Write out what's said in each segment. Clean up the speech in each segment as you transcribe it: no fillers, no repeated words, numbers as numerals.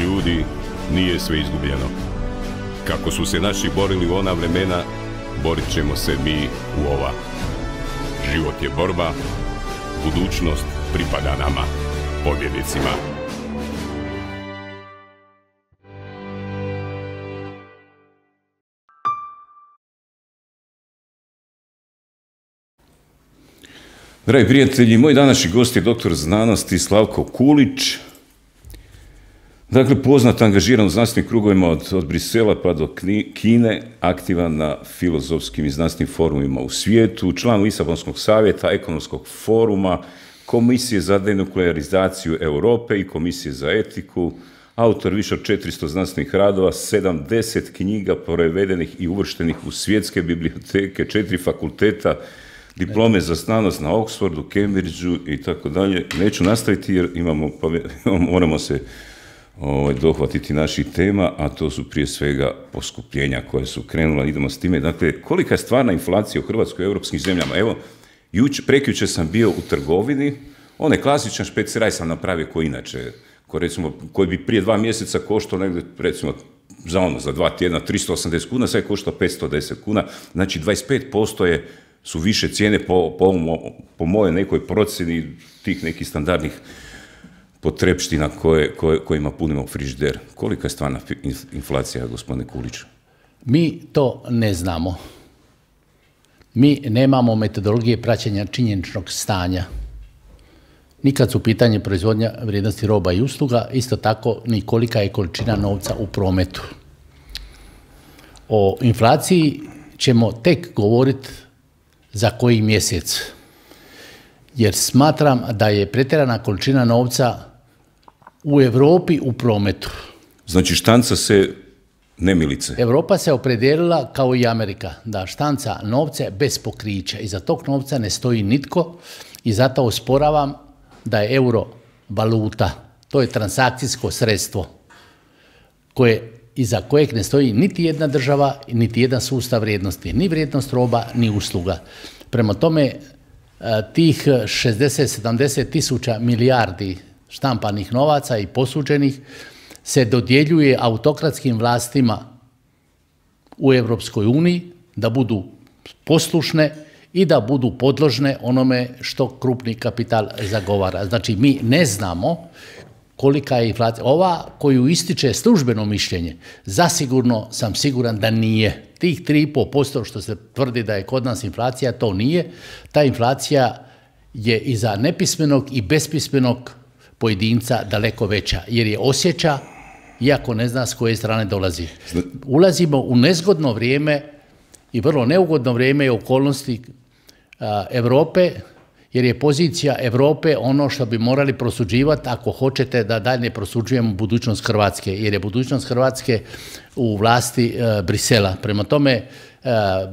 Ljudi, nije sve izgubljeno. Kako su se naši borili u ona vremena, borit ćemo se mi u ova. Život je borba, budućnost pripada nama, pobjednicima. Dragi prijatelji, moj današnji gost je doktor znanosti Slavko Kulić. Dakle, poznat, angažiran u znanstvenim krugovima od Brisela pa do Kine, aktivan na filozofskim i znanstvenim forumima u svijetu, član Lisabonskog savjeta, ekonomskog foruma, Komisije za denuklearizaciju Europe i Komisije za etiku, autor više od 400 znanstvenih radova, 70 knjiga prevedenih i uvrštenih u svjetske biblioteke, 4 fakulteta, diplome za znanost na Oxfordu, Cambridgeu i tako dalje. Neću nastaviti jer moramo se dohvatiti naših tema, a to su prije svega poskupljenja koje su krenula. Idemo s time. Dakle, kolika je stvarna inflacija u Hrvatskoj i europskim zemljama? Evo, prekjučer sam bio u trgovini, onaj klasičan špeciraj sam napravio koji inače, koji bi prije 2 mjeseca koštao negdje, recimo, za 2 tjedna 380 kuna, sad je koštao 510 kuna, znači 25% su više cijene po mojoj nekoj procjeni tih nekih standardnih potrepština kojima punimo frižider. Kolika je stvarna inflacija, gospodine Kuliću? Mi to ne znamo. Mi nemamo metodologije praćenja činjeničnog stanja. Nikad su pitanje proizvodnja vrijednosti roba i usluga, isto tako ni kolika je količina novca u prometu. O inflaciji ćemo tek govoriti za koji mjesec, jer smatram da je pretjerana količina novca u Europi u prometu. Znači štanca se nemilice. Europa se opredijelila kao i Amerika da štanca novce bez pokrića. Iza tog novca ne stoji nitko i zato osporavam da je euro valuta. To je transakcijsko sredstvo iza kojeg ne stoji niti jedna država, niti jedan sustav vrijednosti, ni vrijednost roba, ni usluga. Prema tome, tih 60-70 tisuća milijardi štampanih novaca i posuđenih se dodjeljuje autokratskim vlastima u Europskoj uniji da budu poslušne i da budu podložne onome što krupni kapital zagovara. Znači, mi ne znamo kolika je inflacija. Ova koju ističe službeno mišljenje, zasigurno sam siguran da nije. Tih 3,5% što se tvrdi da je kod nas inflacija, to nije. Ta inflacija je i za nepismenog i bespismenog pojedinca daleko veća, jer je osjeća, iako ne zna s koje strane dolazi. Ulazimo u nezgodno vrijeme i vrlo neugodno vrijeme i okolnosti Europe, jer je pozicija Europe ono što bi morali prosuđivati ako hoćete da dalje prosuđujemo budućnost Hrvatske, jer je budućnost Hrvatske u vlasti Brisela. Prema tome,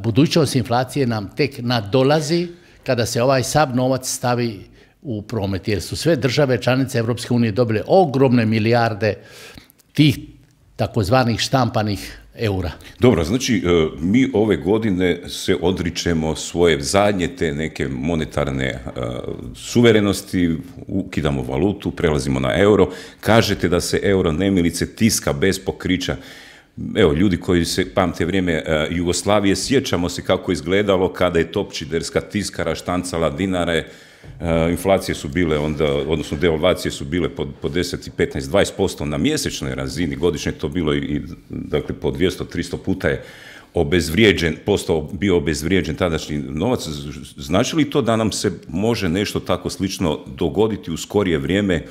budućnost inflacije nam tek nadolazi kada se ovaj sav novac stavi u promet, jer su sve države članice Europske unije dobile ogromne milijarde tih takozvanih štampanih eura. Dobro, znači mi ove godine se odričemo svoje zadnje te neke monetarne suverenosti, ukidamo valutu, prelazimo na euro. Kažete da se euro nemilice tiska bez pokrića. Evo, ljudi koji se pamte vrijeme Jugoslavije, sjećamo se kako izgledalo kada je topčiderska tiskara štancala dinare. Inflacije su bile onda, odnosno devalvacije su bile po 10, 15, 20% na mjesečnoj razini, godišnje to bilo i dakle po 200-300 puta je bio obezvrijeđen tadašnji novac. Znači li to da nam se može nešto tako slično dogoditi u skorije vrijeme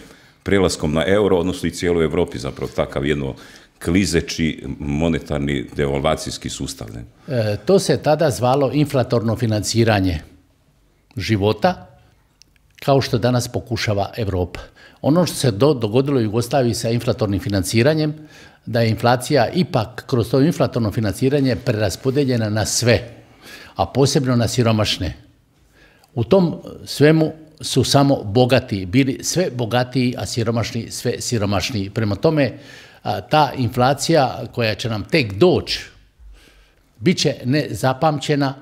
prelaskom na euro, odnosno i cijeloj Europi zapravo takav jedno klizeći monetarni devalvacijski sustav? To se tada zvalo inflatorno financiranje života, kao što danas pokušava Europa. Ono što se dogodilo u Jugoslaviji sa inflatornim financiranjem, da je inflacija ipak kroz to inflatorno financiranje preraspodeljena na sve, a posebno na siromašne. U tom svemu su samo bogati bili sve bogatiji, a siromašni sve siromašniji. Prema tome, ta inflacija koja će nam tek doći, bit će nezapamćena,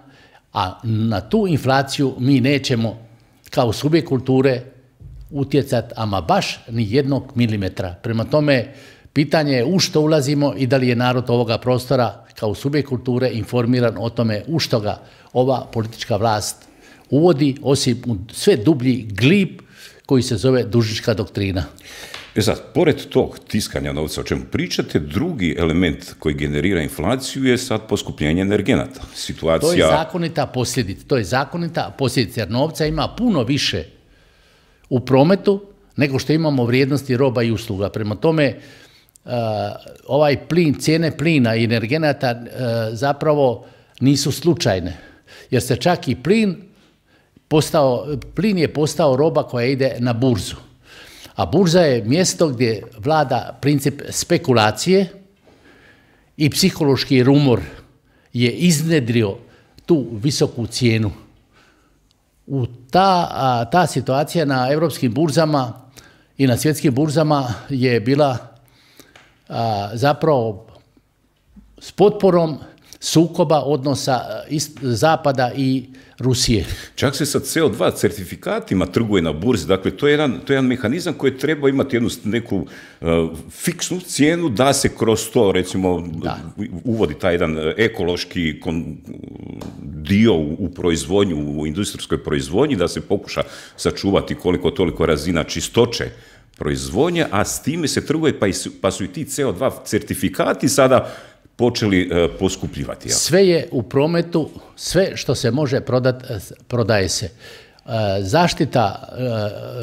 a na tu inflaciju mi nećemo kao subjekt kulture utjecati ama baš ni 1 milimetra. Prema tome, Pitanje je u što ulazimo i da li je narod ovoga prostora kao subjekt kulture informiran o tome u što ga ova politička vlast uvodi, osim u sve dublji glib koji se zove dužnička doktrina. Sad, pored tog tiskanja novca o čemu pričate, drugi element koji generira inflaciju je sad poskupljenje energenata. To je zakonita posljedica, jer novca ima puno više u prometu nego što imamo vrijednosti roba i usluga. Prema tome, ovaj plin, cijene plina i energenata zapravo nisu slučajne, jer se čak i plin je postao roba koja ide na burzu. A burza je mjesto gdje vlada princip spekulacije i psihološki rumor je iznedrio tu visoku cijenu. Ta situacija na europskim burzama i na svjetskim burzama je bila zapravo s potporom sukoba odnosa Zapada i Rusije. Čak se sa CO2 certifikatima trguje na burzi, dakle to je jedan mehanizam koji treba imati jednu neku fiksnu cijenu da se kroz to recimo uvodi taj jedan ekološki dio u proizvodnju, u industrijskoj proizvodnji, da se pokuša sačuvati koliko toliko razina čistoće proizvodnje, a s time se trguje pa su i ti CO2 certifikati sada počeli poskupljivati. Sve je u prometu, sve što se može prodati, prodaje se. Zaštita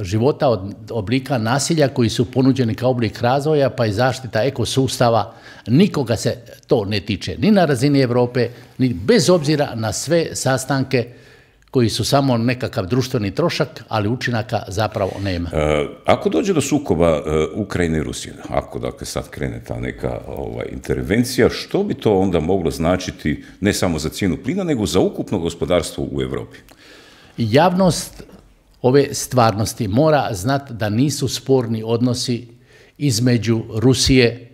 života od oblika nasilja koji su ponuđeni kao oblik razvoja, pa i zaštita ekosustava, nikoga se to ne tiče. Ni na razini Europe, ni bez obzira na sve sastanke koji su samo nekakav društveni trošak, ali učinaka zapravo nema. Ako dođe do sukoba Ukrajine i Rusije, ako dakle sad krene ta neka intervencija, što bi to onda moglo značiti ne samo za cijenu plina, nego za ukupno gospodarstvo u Europi? Javnost ove stvarnosti mora znati da nisu sporni odnosi između Rusije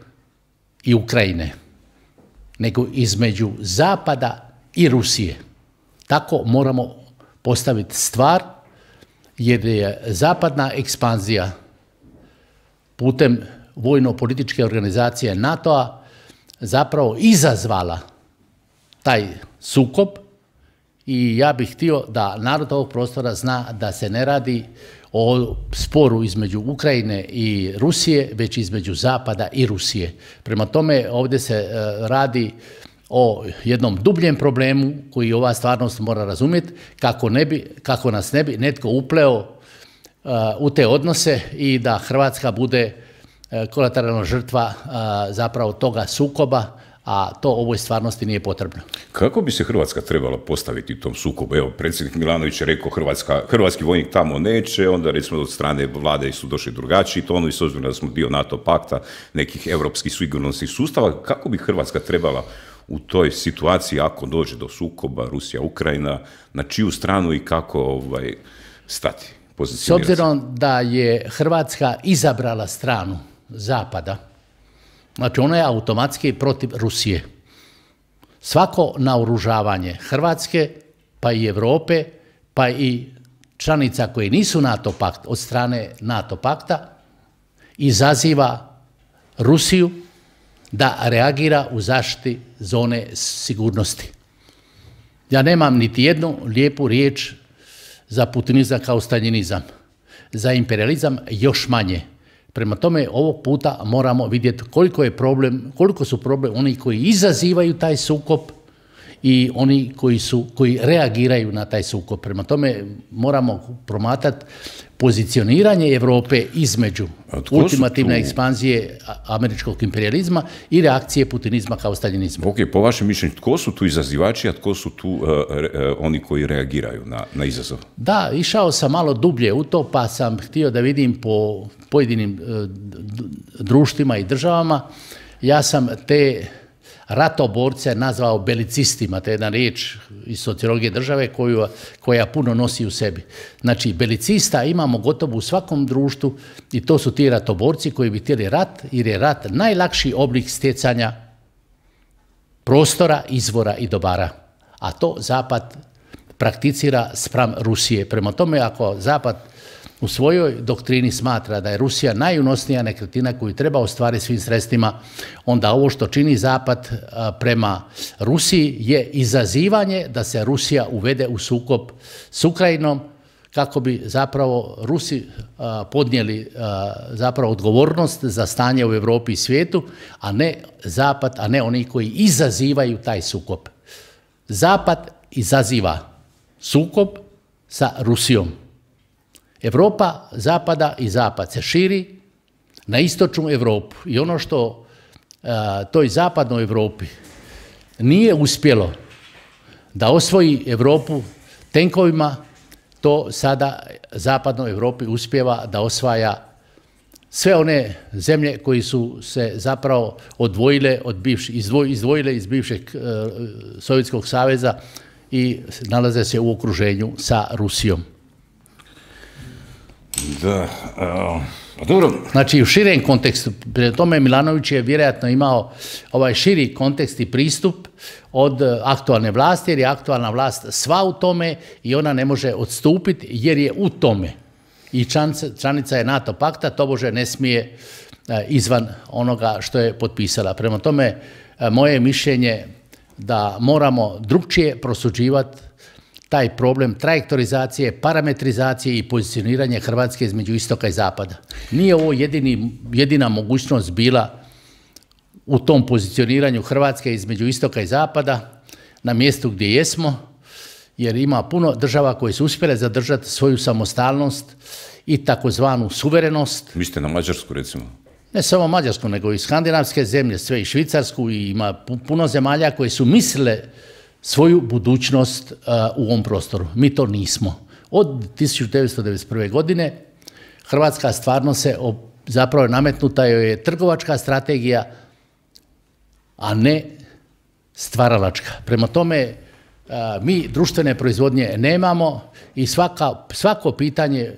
i Ukrajine, nego između Zapada i Rusije. Tako moramo postaviti stvar, jer je zapadna ekspanzija putem vojno-političke organizacije NATO-a zapravo izazvala taj sukob i ja bih htio da narod ovog prostora zna da se ne radi o sporu između Ukrajine i Rusije, već između Zapada i Rusije. Prema tome, ovdje se radi o jednom dubljem problemu koji ova stvarnost mora razumjeti, kako nas ne bi netko upleo u te odnose i da Hrvatska bude kolateralna žrtva zapravo toga sukoba, a to ovoj stvarnosti nije potrebno. Kako bi se Hrvatska trebala postaviti u tom sukobu? Evo, predsjednik Milanović je rekao hrvatski vojnik tamo neće, onda recimo od strane vlade su došli drugačiji tonovi, s obzirom da smo dio NATO pakta, nekih europskih sigurnosnih sustava. Kako bi Hrvatska trebala u toj situaciji, ako dođe do sukoba Rusija-Ukrajina, na čiju stranu i kako stati? S obzirom da je Hrvatska izabrala stranu Zapada, znači ona je automatski protiv Rusije. Svako naoružavanje Hrvatske, pa i Europe, pa i članica koje nisu NATO pakt od strane NATO pakta, izaziva Rusiju da reagira u zaštiti zone sigurnosti. Ja nemam niti jednu lijepu riječ za putinizam kao staljinizam, za imperializam još manje. Prema tome, ovog puta moramo vidjeti koliko su problem oni koji izazivaju taj sukob i oni koji reagiraju na taj sukob. Prema tome, moramo promatrati pozicioniranje Europe između ultimativne ekspanzije američkog imperializma i reakcije putinizma kao staljinizma. Ok, po vašem mišljenju, tko su tu izazivači, a tko su tu oni koji reagiraju na izazov? Da, išao sam malo dublje u to, pa sam htio da vidim po pojedinim društvima i državama. Ja sam te ratoborce nazvao belicistima, to je jedna riječ iz sociologije države koja puno nosi u sebi. Znači, belicista imamo gotovo u svakom društvu i to su ti ratoborci koji bi htjeli rat, jer je rat najlakši oblik stjecanja prostora, izvora i dobara. A to Zapad prakticira spram Rusije. Prema tome, ako Zapad u svojoj doktrini smatra da je Rusija najunosnija nekretnina koju treba ostvariti svim sredstvima, onda ovo što čini Zapad prema Rusiji je izazivanje da se Rusija uvede u sukob s Ukrajinom, kako bi zapravo Rusi podnijeli zapravo odgovornost za stanje u Europi i svijetu, a ne Zapad, a ne oni koji izazivaju taj sukob. Zapad izaziva sukob sa Rusijom. Europa Zapada i Zapad se širi na istočnu Europu i ono što toj zapadnoj Europi nije uspjelo da osvoji Europu tenkovima, to sada zapadnoj Europi uspijeva da osvaja sve one zemlje koji su se zapravo odvojile od izdvojile iz bivšeg Sovjetskog saveza i nalaze se u okruženju sa Rusijom. Da, dobro. Znači u širem kontekstu, prije tome Milanović je vjerojatno imao ovaj širi kontekst i pristup od aktualne vlasti, jer je aktualna vlast sva u tome i ona ne može odstupiti jer je u tome. I članica je NATO pakta, tobože ne smije izvan onoga što je potpisala. Prema tome, moje mišljenje da moramo drukčije prosuđivati taj problem trajektorizacije, parametrizacije i pozicioniranja Hrvatske između istoka i zapada. Nije ovo jedina mogućnost bila u tom pozicioniranju Hrvatske između istoka i zapada na mjestu gdje jesmo, jer ima puno država koje su uspjele zadržati svoju samostalnost i takozvanu suverenost. Mislite na Mađarsku, recimo? Ne samo Mađarsku, nego i skandinavske zemlje, sve i Švicarsku, i ima puno zemalja koje su mislile svoju budućnost u ovom prostoru. Mi to nismo. Od 1991. godine Hrvatska stvarno se zapravo nametnuta joj je trgovačka strategija, a ne stvaralačka. Prema tome, mi društvene proizvodnje nemamo i svako pitanje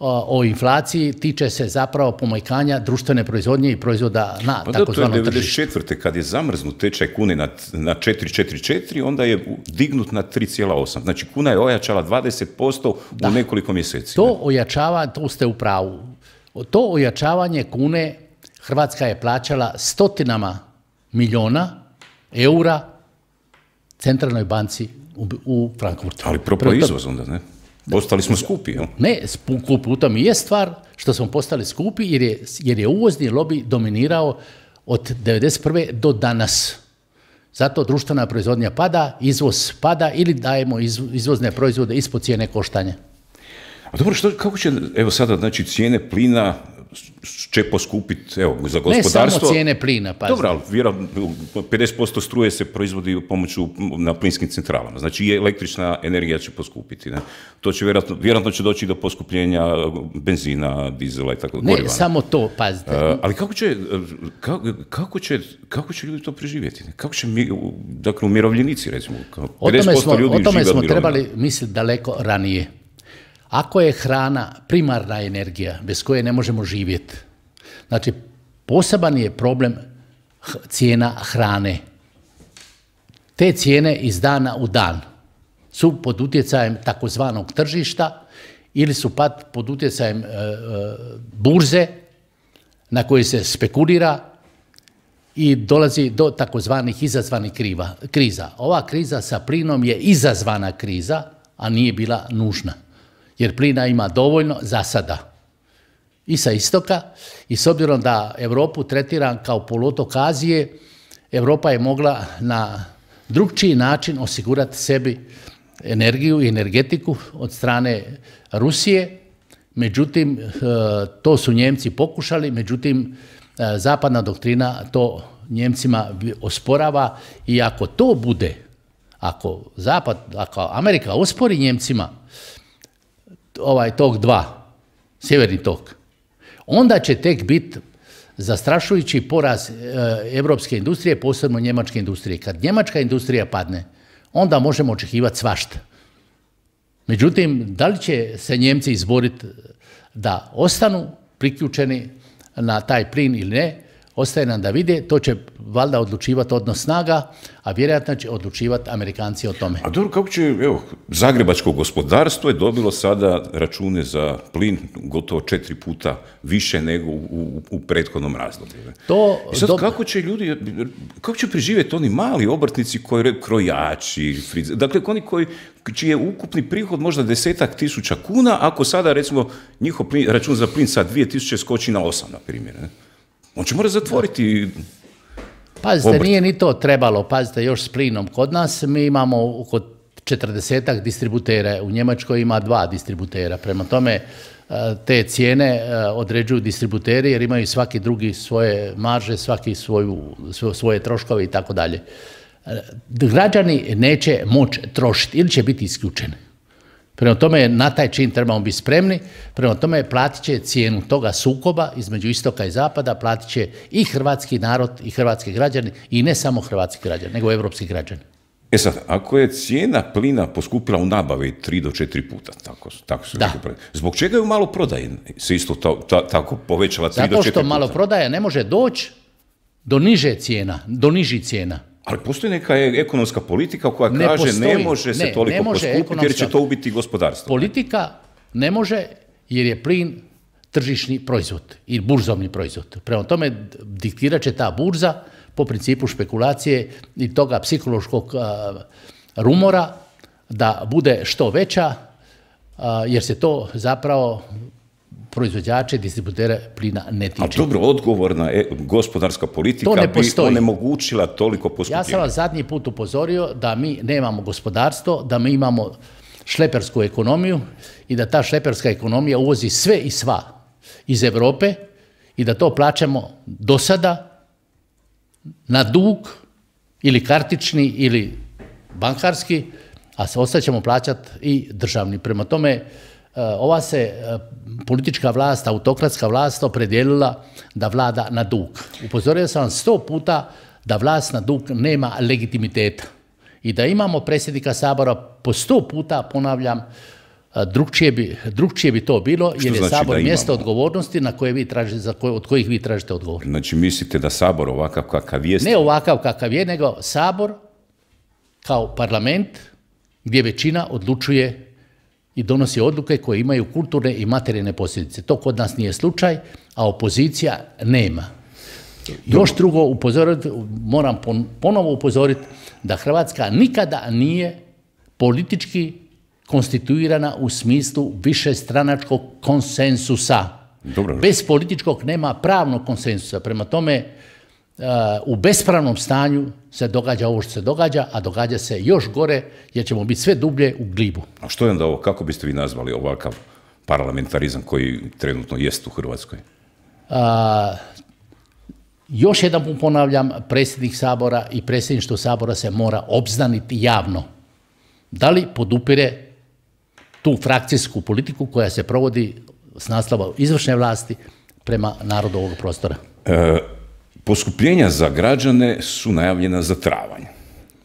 o inflaciji tiče se zapravo pomanjkanja društvene proizvodnje i proizvoda na takozvano tržište. To je 1994. kad je zamrznut tečaj kune na 4,44, onda je dignut na 3,8. Znači kuna je ojačala 20% u nekoliko mjeseci. To ojačava, to ste u pravu. To ojačavanje kune Hrvatska je plaćala stotinama milijuna eura Centralnoj banci u Frankfurtu. Ali propao izvoz onda, ne? Postali smo skupi, jel? Ne, skupi, u tom i je stvar što smo postali skupi jer je uvozni lobij dominirao od 1991. do danas. Zato društvena proizvodnja pada, izvoz pada ili dajemo izvozne proizvode ispod cijene koštanja. A dobro, kako će, evo sada, znači, cijene plina će poskupiti, evo, za gospodarstvo? Ne samo cijene plina, pazi. Dobro, ali 50% struje se proizvodi pomoću na plinskim centralama, znači i električna energija će poskupiti. Ne? To će vjerojatno će doći do poskupljenja benzina, dizela i tako da. Ne, samo to, pazite. Ali kako će ljudi to preživjeti? Ne? Kako će, dakle, umirovljenici, recimo, 50% ljudi o tome žive od smo mirovina. trebali misliti daleko ranije. Ako je hrana primarna energija bez koje ne možemo živjeti, znači poseban je problem cijena hrane. Te cijene iz dana u dan su pod utjecajem takozvanog tržišta ili su pod utjecajem burze na kojoj se spekulira i dolazi do takozvanih izazvanih kriza. Ova kriza sa plinom je izazvana kriza, a nije bila nužna. Jer plina ima dovoljno za sada i sa istoka, i s obzirom da Europu tretiram kao poluotok Azije, Europa je mogla na drugčiji način osigurati sebi energiju i energetiku od strane Rusije. Međutim, to su Njemci pokušali, međutim, zapadna doktrina to Njemcima osporava i ako to bude, ako Amerika ospori Njemcima tok 2, sjeverni tok, onda će tek biti zastrašujući poraz evropske industrije, posebno njemačke industrije. Kad njemačka industrija padne, onda možemo očekivati svašta. Međutim, da li će se Njemci izboriti da ostanu priključeni na taj plin ili ne, ostaje nam da vide, to će valjda odlučivati odnos snaga, a vjerojatno će odlučivati Amerikanci o tome. A dobro, kako će, evo, zagrebačko gospodarstvo je dobilo sada račune za plin gotovo 4 puta više nego u prethodnom razdoblju. I sad kako će preživjeti oni mali obrtnici krojači, dakle oni čiji je ukupni prihod možda 10.000 kuna, ako sada recimo njihov račun za plin sa 2.000 skoči na 8, na primjer. On će morati zatvoriti. Pazite, nije ni to trebalo, pazite, još s plinom. Kod nas mi imamo oko 40 distributera, u Njemačkoj ima 2 distributera. Prema tome, te cijene određuju distributeri jer imaju svaki drugi svoje marže, svaki svoje troškove i tako dalje. Građani neće moći trošiti ili će biti isključeni. Prema tome, na taj čin trebamo biti spremni, prema tome platit će cijenu toga sukoba između istoka i zapada, platit će i hrvatski narod i hrvatski građani, i ne samo hrvatski građani, nego evropski građani. E sad, ako je cijena plina poskupila u nabavi 3 do 4 puta, tako se rekao, zbog čega je u maloprodaji se isto tako povećala 3 do 4 puta? Zato što maloprodaja ne može doći do niže cijena, do nižih cijena. Ali postoji neka ekonomska politika koja kaže ne može se toliko poskupiti jer će to ubiti gospodarstvo. Politika ne može jer je plin tržišni proizvod i burzovni proizvod. Prema tome diktirat će ta burza po principu špekulacije i toga psihološkog rumora da bude što veća jer se to zapravo proizvođače, distributere plina ne tiče. A dobro, odgovorna gospodarska politika bi onemogućila toliko poskupljenja. Ja sam vas zadnji put upozorio da mi nemamo gospodarstvo, da mi imamo šlepersku ekonomiju i da ta šleperska ekonomija uvozi sve i sva iz Europe i da to plaćamo do sada na dug ili kartični ili bankarski, a ostat ćemo plaćati i državni. Prema tome, ova se politička vlast, autokratska vlast opredijelila da vlada na dug. Upozorio sam vam 100 puta da vlast na dug nema legitimiteta i da imamo predsjednika Sabora po 100 puta, ponavljam, drugčije bi to bilo jer je Sabor mjesto odgovornosti od kojih vi tražite odgovor. Znači mislite da Sabor ovakav kakav jest? Ne ovakav kakav je, nego Sabor kao parlament gdje većina odlučuje i donosi odluke koje imaju kulturne i materijalne posljedice. To kod nas nije slučaj, a opozicija nema. Još drugo, moram ponovo upozoriti da Hrvatska nikada nije politički konstituirana u smislu višestranačkog konsensusa. Dobro. Bez političkog nema pravnog konsensusa. Prema tome, u bespravnom stanju se događa ovo što se događa, a događa se još gore jer ćemo biti sve dublje u glibu. A što je onda ovo, kako biste vi nazvali ovakav parlamentarizam koji trenutno jest u Hrvatskoj? Još jedan ponavljam, predsjednik Sabora i predsjedništvo Sabora se mora obznaniti javno. Da li podupire tu frakcijsku politiku koja se provodi s naslova izvršne vlasti prema narodu ovog prostora? Poskupljenja za građane su najavljena za travanj.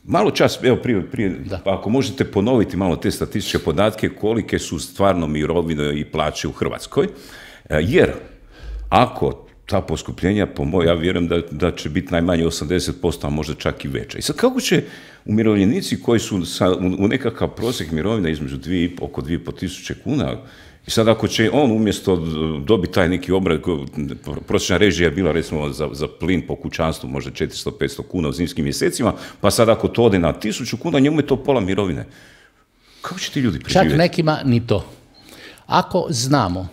Malo čas, evo prije ako možete ponoviti malo te statističke podatke, kolike su stvarno mirovine i plaće u Hrvatskoj, jer ako ta poskupljenja, ja vjerujem da će biti najmanje 80%, a možda čak i veća. I sad kako će umirovljenici koji su u nekakav prosjek mirovina između oko 2.500 kuna, i sad ako će on umjesto dobiti taj neki obrad, prosječna režija je bila recimo za plin po kućanstvu možda 400-500 kuna u zimskim mjesecima, pa sad ako to ode na 1.000 kuna, njemu je to pola mirovine. Kako će ti ljudi preživjeti? Čak nekima ni to. Ako znamo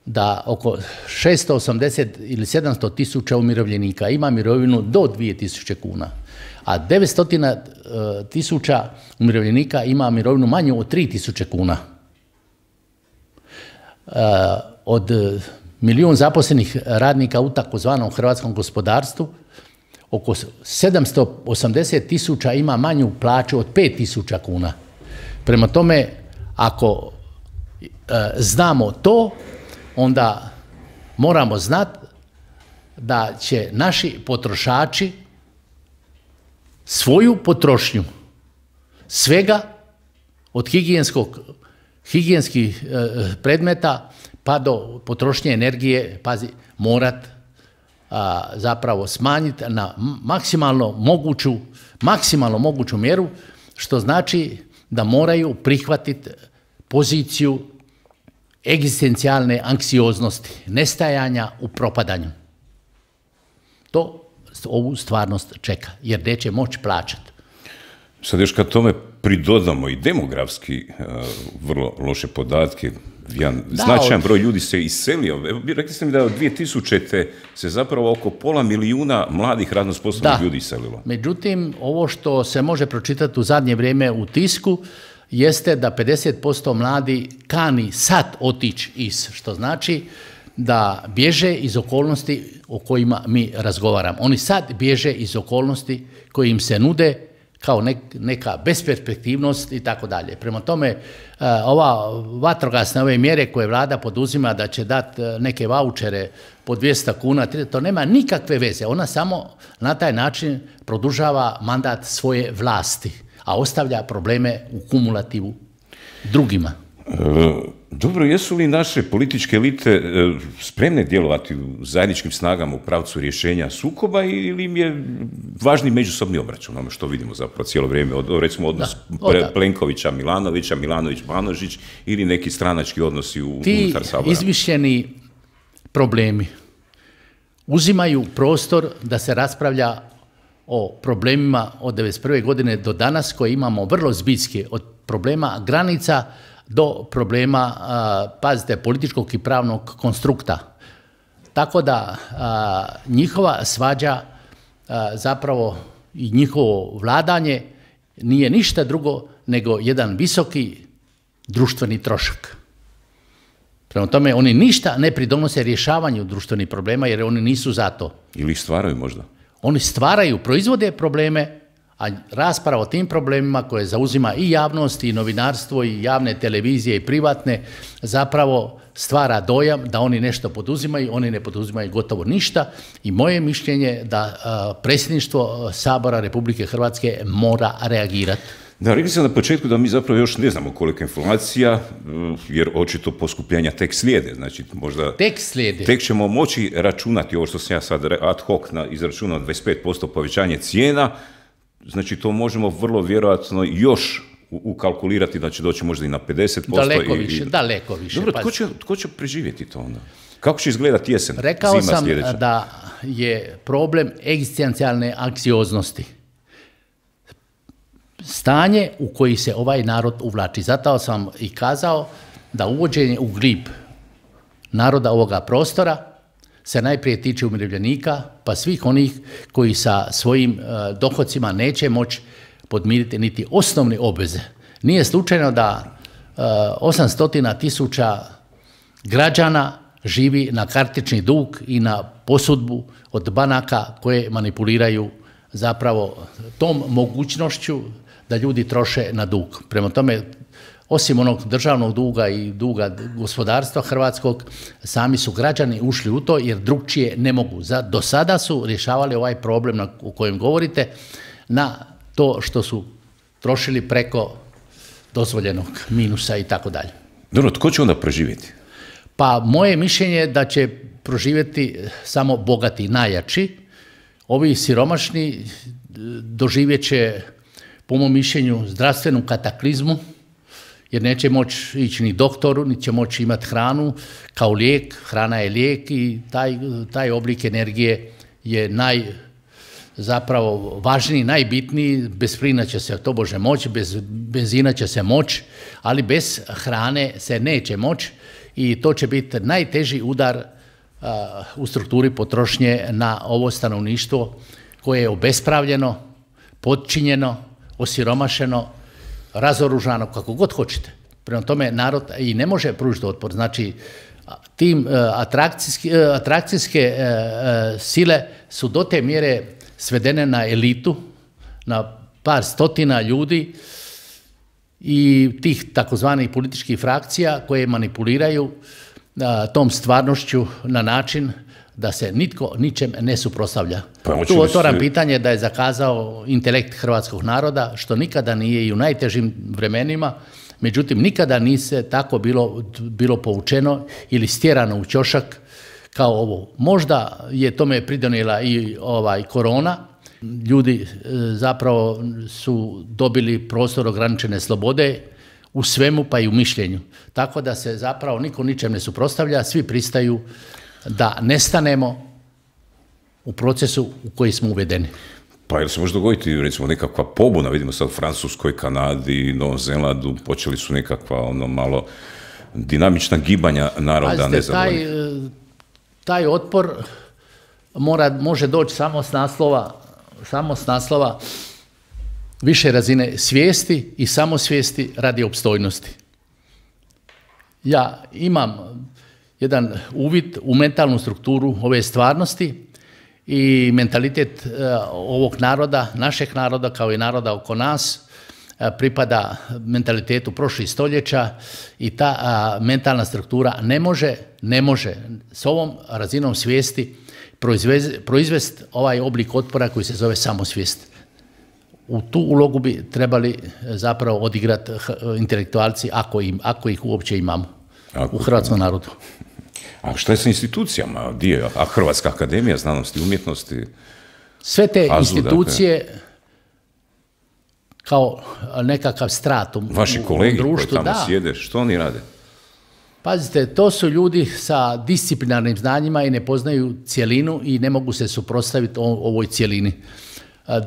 da oko 680 ili 700 tisuća umirovljenika ima mirovinu do 2.000 kuna, a 900 tisuća umirovljenika ima mirovinu manju od 3.000 kuna. Od milijun zaposlenih radnika u takozvanom hrvatskom gospodarstvu, oko 780 tisuća ima manju plaću od 5.000 kuna. Prema tome, ako znamo to, onda moramo znati da će naši potrošači svoju potrošnju svega od higijenskih predmeta pa do potrošnje energije, pazi, morat zapravo smanjiti na maksimalno moguću mjeru, što znači da moraju prihvatiti poziciju egzistencijalne anksioznosti, nestajanja u propadanju. To ovu stvarnost čeka, jer neće moći plaćati. Sad još kad tome pridodamo i demografski vrlo loše podatke, značajan broj ljudi se iselio. Rekli ste mi da od 2000. se zapravo oko 500 milijuna mladih radno sposobnih ljudi iselilo. Međutim, ovo što se može pročitati u zadnje vrijeme u tisku jeste da 50% mladi kani sad otići što znači da bježe iz okolnosti o kojima mi razgovaramo. Oni sad bježe iz okolnosti koje im se nude kao neka besperspektivnost i tako dalje. Prema tome, ova vatrogasne ove mjere koje vlada poduzima da će dati neke vaučere po 200 kuna, to nema nikakve veze. Ona samo na taj način produžava mandat svoje vlasti, a ostavlja probleme u kumulativu drugima. Dobro, jesu li naše političke elite spremne djelovati u zajedničkim snagama u pravcu rješenja sukoba ili im je važni međusobni obračun, ono što vidimo zapravo cijelo vrijeme, recimo odnos Plenkovića, Milanovića, Milanović-Banožić ili neki stranački odnosi unutar Sabora? Ti izmišljeni problemi uzimaju prostor da se raspravlja o problemima od 1991. godine do danas koje imamo vrlo zbiljske, od problema granica do problema, pazite, političkog i pravnog konstrukta. Tako da njihova svađa zapravo i njihovo vladanje nije ništa drugo nego jedan visoki društveni trošak. Prema tome, oni ništa ne pridonose rješavanju društvenih problema jer oni nisu za to. Ili ih stvaraju možda? Oni stvaraju, proizvode probleme, a rasprava o tim problemima koje zauzima i javnost i novinarstvo i javne televizije i privatne zapravo stvara dojam da oni nešto poduzimaju, oni ne poduzimaju gotovo ništa i moje mišljenje da predsjedništvo Sabora Republike Hrvatske mora reagirati. Da, rekli sam na početku da mi zapravo još ne znamo koliko informacija, jer očito poskupljenja tek slijede, znači možda tek ćemo moći računati ovo što sam ja sad ad hoc izračunao 25% povećanje cijena. Znači, to možemo vrlo vjerojatno još ukalkulirati da će doći možda i na 50%. Daleko više. Dobro, tko će preživjeti to onda? Kako će izgledati jesen, Rekao zima sljedeća? sam da je problem egzistencijalne anksioznosti. Stanje u koji se ovaj narod uvlači. Zato sam i kazao da uvođenje u glib naroda ovoga prostora se najprije tiče umirovljenika, pa svih onih koji sa svojim dohodcima neće moći podmiriti niti osnovne obveze. Nije slučajno da 800.000 građana živi na kartični dug i na posudbu od banaka koje manipuliraju zapravo tom mogućnošću da ljudi troše na dug. Prema tome, osim onog državnog duga i duga gospodarstva hrvatskog, sami su građani ušli u to jer drugčije ne mogu. Do sada su rješavali ovaj problem o kojem govorite na to što su trošili preko dozvoljenog minusa i tako dalje. Dobro, tko će onda preživjeti? Pa moje mišljenje je da će proživjeti samo bogati, najjači. Ovi siromašni doživjet će, po mom mišljenju, zdravstvenu kataklizmu, jer neće moći ići ni doktoru, ni će moći imati hranu kao lijek. Hrana je lijek i taj oblik energije je zapravo važniji, najbitniji. Bez plina će se tobože moći, bez benzina će se moći, ali bez hrane se neće moći i to će biti najteži udar u strukturi potrošnje na ovo stanovništvo koje je obespravljeno, potčinjeno, osiromašeno, razoružano, kako god hoćete. Prema tome, narod i ne može pružiti otpor. Znači, tim atrakcijske sile su do te mjere svedene na elitu, na par stotina ljudi i tih takozvanih političkih frakcija koje manipuliraju tom stvarnošću na način da se nitko ničem ne suprotstavlja. Tu otvaram pitanje da je zakazao intelekt hrvatskog naroda, što nikada nije i u najtežim vremenima, međutim nikada nije tako bilo povučeno ili stjerano u ćošak kao ovo. Možda je tome pridonijela i korona. Ljudi zapravo su dobili prostor ograničene slobode u svemu, pa i u mišljenju. Tako da se zapravo niko ničem ne suprotstavlja, svi pristaju da nestanemo u procesu u koji smo uvedeni. Pa jel se može dogoditi, recimo, nekakva pobuna, vidimo sad u Francuskoj, Kanadi, Novom Zelandu, počeli su nekakva malo dinamična gibanja naroda nezadovoljnih. Taj otpor može doći samo s naslova više razine svijesti i samosvijesti radi opstojnosti. Ja imam jedan uvid u mentalnu strukturu ove stvarnosti i mentalitet ovog naroda, našeg naroda kao i naroda oko nas, pripada mentalitetu prošlih stoljeća i ta mentalna struktura ne može s ovom razinom svijesti proizvesti ovaj oblik otpora koji se zove samosvijest. U tu ulogu bi trebali zapravo odigrati intelektualci, ako ih uopće imamo u hrvatskom narodu. A što je sa institucijama? A Hrvatska akademija znanosti i umjetnosti? Sve te institucije kao nekakav stratum u društvu. Vaši kolegi koji tamo sjede, što oni rade? Pazite, to su ljudi sa disciplinarnim znanjima i ne poznaju cjelinu i ne mogu se suprotstaviti ovoj cjelini.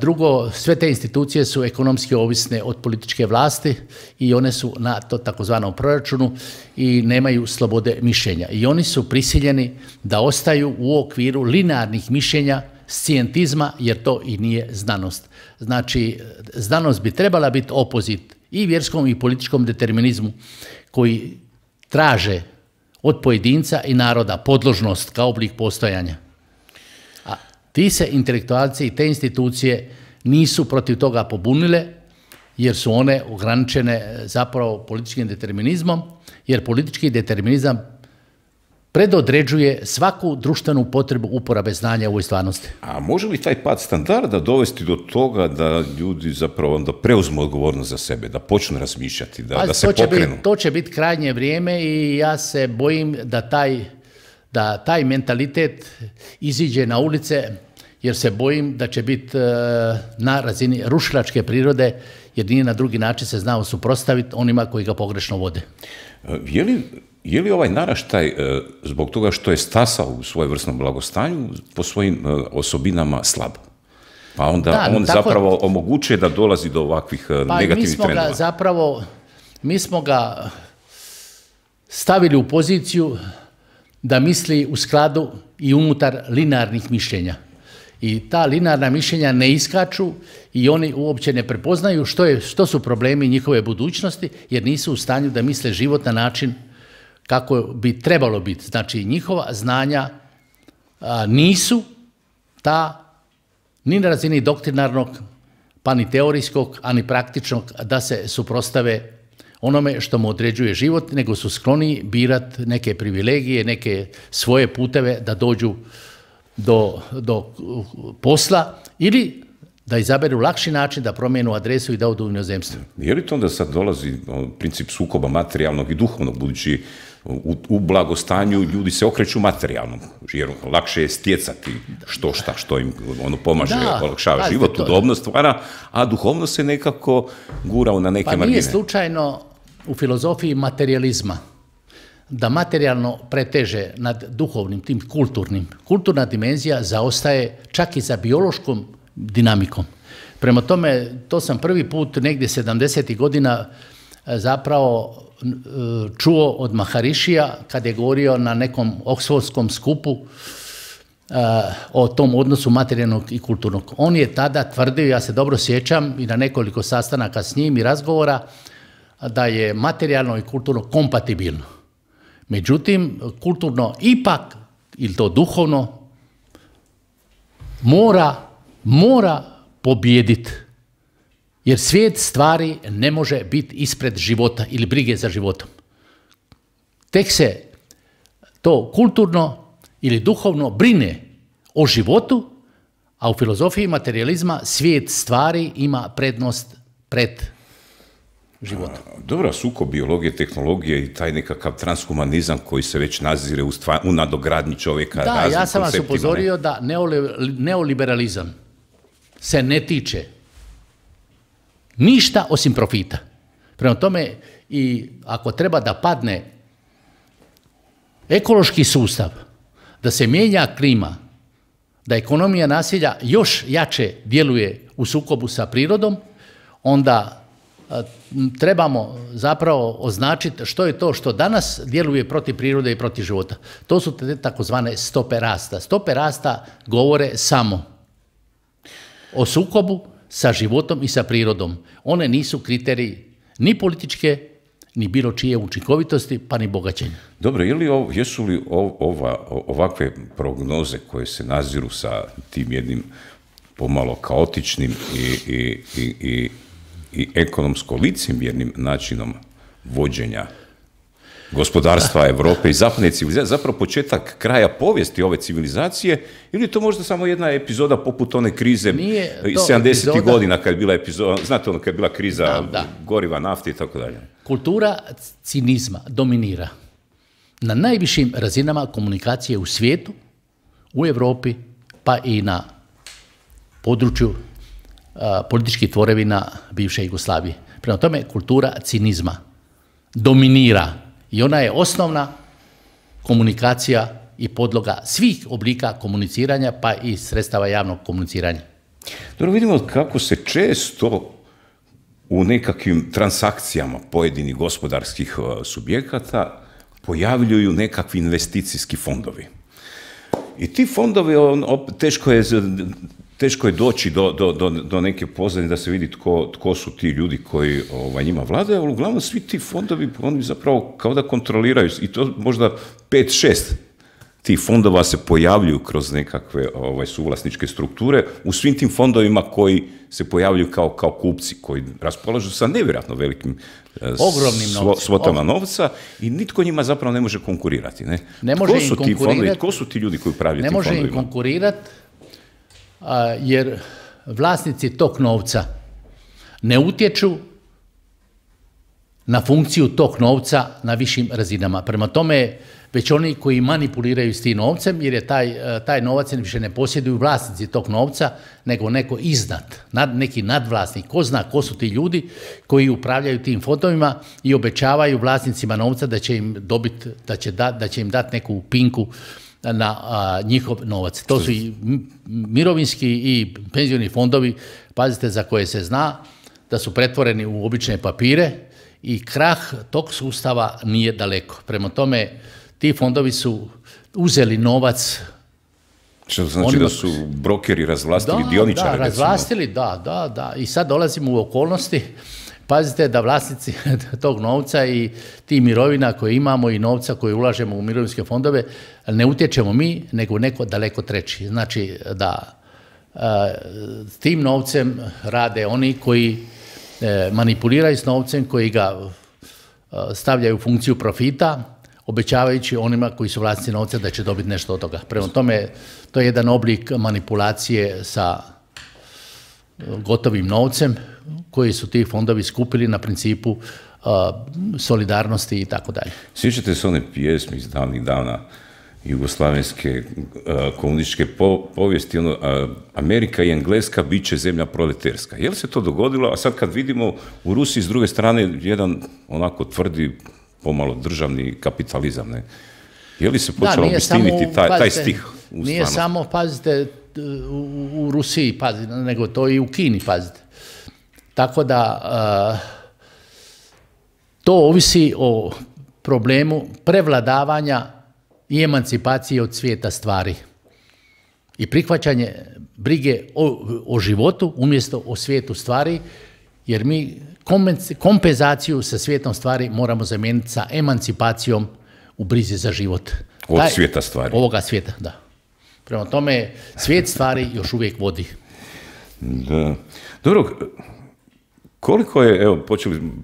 Drugo, sve te institucije su ekonomski ovisne od političke vlasti i one su na to takozvanom proračunu i nemaju slobode mišljenja. I oni su prisiljeni da ostaju u okviru linearnih mišljenja, scijentizma, jer to i nije znanost. Znači, znanost bi trebala biti opozit i vjerskom i političkom determinizmu koji traže od pojedinca i naroda podložnost kao oblik postojanja. A ti se intelektualci i te institucije nisu protiv toga pobunile, jer su one ograničene zapravo političkim determinizmom, jer politički determinizam predodređuje svaku društvenu potrebu uporabe znanja u ovoj stvarnosti. A može li taj pad standarda dovesti do toga da ljudi zapravo onda preuzmu odgovornost za sebe, da počnu razmišljati, da se pokrenu? To će biti krajnje vrijeme i ja se bojim da taj mentalitet iziđe na ulice, jer se bojim da će biti na razini rušilačke prirode, jer nije na drugi način se znao suprotstaviti onima koji ga pogrešno vode. Je li ovaj naraštaj, zbog toga što je stasao u svojevrsnom blagostanju, po svojim osobinama slab? Pa onda on zapravo omogućuje da dolazi do ovakvih negativnih trendova. Mi smo ga stavili u poziciju da misli u skladu i unutar linearnih mišljenja. I ta linearna mišljenja ne iskaču i oni uopće ne prepoznaju što su problemi njihove budućnosti, jer nisu u stanju da misle život na način kako bi trebalo biti. Znači, njihova znanja nisu ta ni na razini doktrinarnog, pa ni teorijskog, a ni praktičnog, da se suprotstave onome što mu određuje život, nego su skloni birati neke privilegije, neke svoje puteve da dođu do posla ili da izaberu lakši način da promijenu adresu i da odu u inozemstvo. Je li to onda sad dolazi princip sukoba materijalnog i duhovnog, budući u blagostanju ljudi se okreću materijalnom, jer lakše je stjecati što im pomaže, olakšava život, udobnost stvara, a duhovno se nekako gura na neke margine. Pa nije slučajno u filozofiji materijalizma da materijalno preteže nad duhovnim, tim kulturnim. Kulturna dimenzija zaostaje čak i za biološkom dinamikom. Prema tome, to sam prvi put negdje 70. godina zapravo čuo od Maharišija kad je govorio na nekom oksfordskom skupu o tom odnosu materijalnog i kulturnog. On je tada tvrdio, ja se dobro sjećam i na nekoliko sastanaka s njim i razgovora, da je materijalno i kulturno kompatibilno. Međutim, kulturno ipak, ili to duhovno, mora pobijediti. Jer svijet stvari ne može biti ispred života ili brige za životom. Tek se to kulturno ili duhovno brine o životu, a u filozofiji materijalizma svijet stvari ima prednost pred života. Dobro, sukob biologije, tehnologije i taj nekakav transhumanizam koji se već nazire u nadogradnji čovjeka. Da, ja sam vas upozorio da neoliberalizam se ne tiče ništa osim profita. Prema tome, i ako treba da padne ekološki sustav, da se mijenja klima, da ekonomija nasilja još jače djeluje u sukobu sa prirodom, onda trebamo zapravo označiti što je to što danas djeluje protiv prirode i protiv života. To su te takozvane stope rasta. Stope rasta govore samo o sukobu sa životom i sa prirodom. One nisu kriteriji ni političke, ni bilo čije učinkovitosti, pa ni bogaćenja. Dobro, jesu li ovakve prognoze koje se naziru sa tim jednim pomalo kaotičnim i ekonomsko licemjernim načinom vođenja gospodarstva Europe i zapadne civilizacije, zapravo početak kraja povijesti ove civilizacije, ili je to možda samo jedna epizoda poput one krize iz 70. godina kad je bila epizoda, znate ono kad je bila kriza goriva, nafte i tako dalje. Kultura cinizma dominira na najvišim razinama komunikacije u svijetu, u Europi, pa i na području političkih tvorevina bivše Jugoslavije. Prema tome, kultura cinizma dominira i ona je osnovna komunikacija i podloga svih oblika komuniciranja, pa i sredstava javnog komuniciranja. Dobro, vidimo kako se često u nekakvim transakcijama pojedinih gospodarskih subjekata pojavljuju nekakvi investicijski fondovi. I ti fondovi, teško je doći do neke pozadine da se vidi tko su ti ljudi koji njima vladaju, ali uglavnom svi ti fondovi, oni zapravo kao da kontroliraju, i to možda 5-6 tih fondova se pojavljuju kroz nekakve suvlasničke strukture u svim tim fondovima koji se pojavljuju kao kupci, koji raspolažu sa nevjerojatno velikim svotama novca i nitko njima zapravo ne može konkurirati. Ne može im konkurirati. Tko su ti ljudi koji upravljaju tim fondovima? Ne može im konkurirati jer vlasnici tog novca ne utječu na funkciju tog novca na višim razinama. Prema tome, već oni koji manipuliraju s tim novcem, jer je taj novac više ne posjeduju vlasnici tog novca, nego neko iznad, neki nadvlasnik. Ko zna ko su ti ljudi koji upravljaju tim fondovima i obećavaju vlasnicima novca da će im dobiti, da će im dati neku pinku na njihov novac. To su i mirovinski i penzioni fondovi, pazite, za koje se zna da su pretvoreni u obične papire i krah tog sustava nije daleko. Prema tome, ti fondovi su uzeli novac. Što znači da su brokeri razvlastili dioničare? Da, razvlastili, da. I sad dolazimo u okolnosti, pazite, da vlasnici tog novca i ti mirovina koje imamo i novca koje ulažemo u mirovinske fondove ne utječemo mi, nego neko daleko treći. Znači da s tim novcem rade oni koji manipuliraju s novcem, koji ga stavljaju u funkciju profita, obećavajući onima koji su vlasnici novca da će dobiti nešto od toga. Prema tome, to je jedan oblik manipulacije sa gotovim novcem koji su ti fondovi skupili na principu solidarnosti i tako dalje. Sjećate se one pjesme iz davnih dana jugoslavenske komunističke povijesti, Amerika i Engleska bit će zemlja proleterska. Je li se to dogodilo? A sad kad vidimo u Rusiji s druge strane jedan onako tvrdi pomalo državni kapitalizam, ne? Je li se počelo obistiniti taj stih u stvarnosti? Nije samo, pazite, u Rusiji, pazite, nego to i u Kini, pazite. Tako da to ovisi o problemu prevladavanja i emancipacije od svijeta stvari i prihvaćanje brige o životu umjesto o svijetu stvari, jer mi kompenzaciju sa svijetom stvari moramo zamijeniti sa emancipacijom u brizi za život. Od svijeta stvari. Ovoga svijeta, da. Prema tome, svijet stvari još uvijek vodi. Da. Dobro, Koliko je, evo,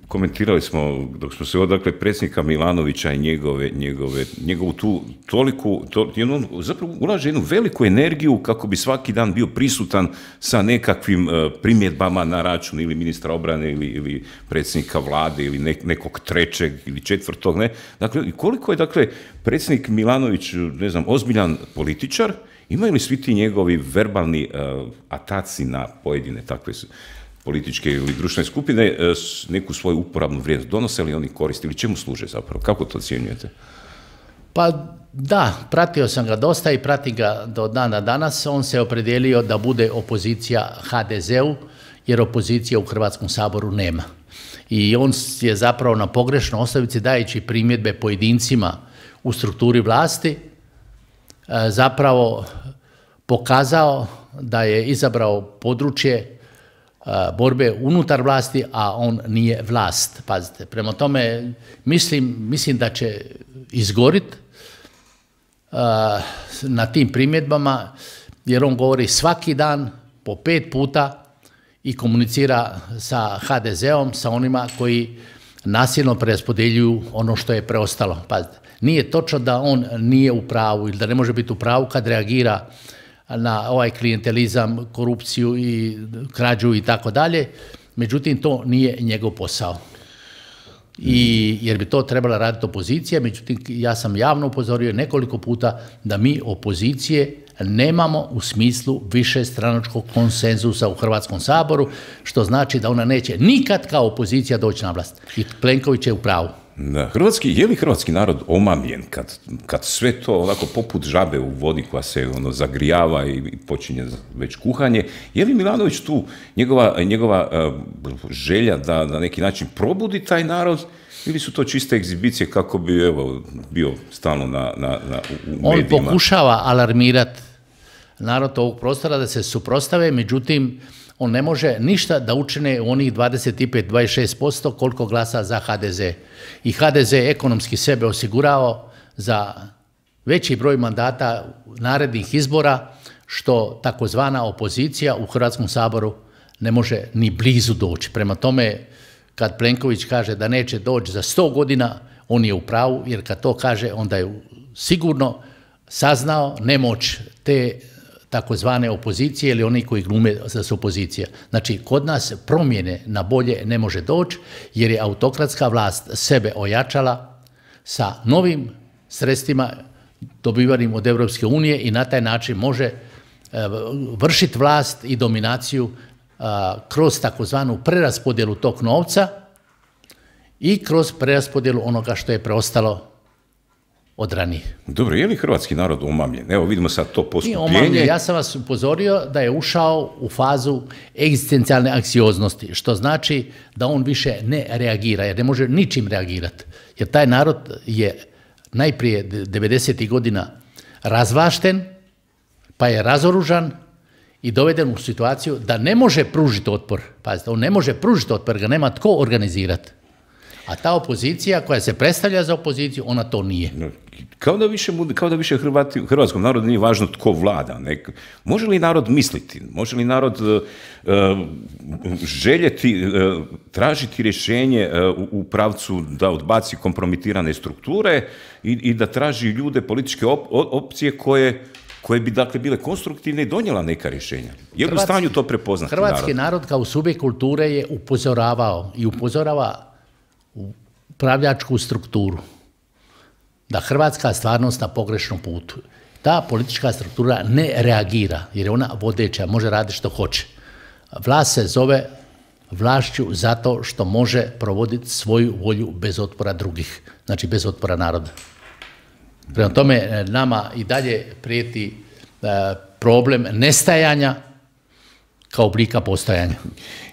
komentirali smo, dok smo se dakle, predsjednika Milanovića i njegovu tu toliku, zapravo ulaže jednu veliku energiju kako bi svaki dan bio prisutan sa nekakvim primjedbama na račun ili ministra obrane ili predsjednika vlade ili nekog trećeg ili četvrtog, ne? Dakle, koliko je, dakle, predsjednik Milanović, ne znam, ozbiljan političar, imaju li svi ti njegovi verbalni ataci na pojedine takve političke ili društvene skupine neku svoju uporabnu vrijednost? Donose li oni koristi ili čemu služe zapravo? Kako to ocjenjujete? Pa da, pratio sam ga dosta i pratim ga do dana danas. On se opredijelio da bude opozicija HDZ-u, jer opozicije u Hrvatskom saboru nema. I on je zapravo na pogrešnoj osnovici, dajući primjedbe pojedincima u strukturi vlasti, zapravo pokazao da je izabrao područje borbe unutar vlasti, a on nije vlast. Pazite, prema tome mislim da će izgoriti na tim primjedbama, jer on govori svaki dan po 5 puta i komunicira sa HDZ-om, sa onima koji nasilno preraspodjeljuju ono što je preostalo. Pazite, nije točno da on nije u pravu ili da ne može biti u pravu kad reagira na ovaj klijentelizam, korupciju i krađu i tako dalje, međutim to nije njegov posao. Jer bi to trebala raditi opozicija, međutim ja sam javno upozorio nekoliko puta da mi opozicije nemamo u smislu višestranačkog konsenzusa u Hrvatskom saboru, što znači da ona neće nikad kao opozicija doći na vlast. I Plenković je u pravu. Da, je li hrvatski narod omamljen kad sve to onako poput žabe u vodi koja se zagrijava i počinje već kuhanje? Je li Milanović tu, njegova želja da na neki način probudi taj narod, ili su to čiste egzibicije kako bi bio stalno u medijima? On pokušava alarmirati narod ovog prostora da se suprotstave, međutim on ne može ništa da učine u onih 25-26% koliko glasa za HDZ. I HDZ ekonomski sebe osigurao za veći broj mandata narednih izbora, što takozvana opozicija u Hrvatskom saboru ne može ni blizu doći. Prema tome, kad Plenković kaže da neće doći za 100 godina, on je u pravu, jer kad to kaže, onda je sigurno saznao nemoć te takozvane opozicije ili oni koji glume da su opozicija. Znači, kod nas promjene na bolje ne može doći, jer je autokratska vlast sebe ojačala sa novim sredstvima dobivanim od Europske unije i na taj način može vršiti vlast i dominaciju kroz takozvanu preraspodjelu tog novca i kroz preraspodjelu onoga što je preostalo od ranije. Dobro, je li hrvatski narod omamljen? Evo, vidimo sad to poskupljenje. Ja sam vas upozorio da je ušao u fazu egzistencijalne anksioznosti, što znači da on više ne reagira, jer ne može ničim reagirati. Jer taj narod je najprije 90. godina razvlašten, pa je razoružan i doveden u situaciju da ne može pružiti otpor. Pazite, on ne može pružiti otpor, ga nema tko organizirati. A ta opozicija koja se predstavlja za opoziciju, ona to nije. Kao da više hrvatskom narodu nije važno tko vlada. Može li narod misliti? Može li narod željeti, tražiti rješenje u pravcu da odbaci kompromitirane strukture i da traži ljude, političke opcije koje bi dakle bile konstruktivne i donijela neka rješenja? Je li u stanju to prepoznati narod? Hrvatski narod kao subjekt kulture je upozoravao i upozorava upravljačku strukturu da Hrvatska stvarnost na pogrešnom putu. Ta politička struktura ne reagira jer je ona vodeća, može raditi što hoće. Vlast se zove vlašću zato što može provoditi svoju volju bez otpora drugih, znači bez otpora naroda. Prema tome, nama i dalje prijeti problem nestajanja kao oblika postojanja.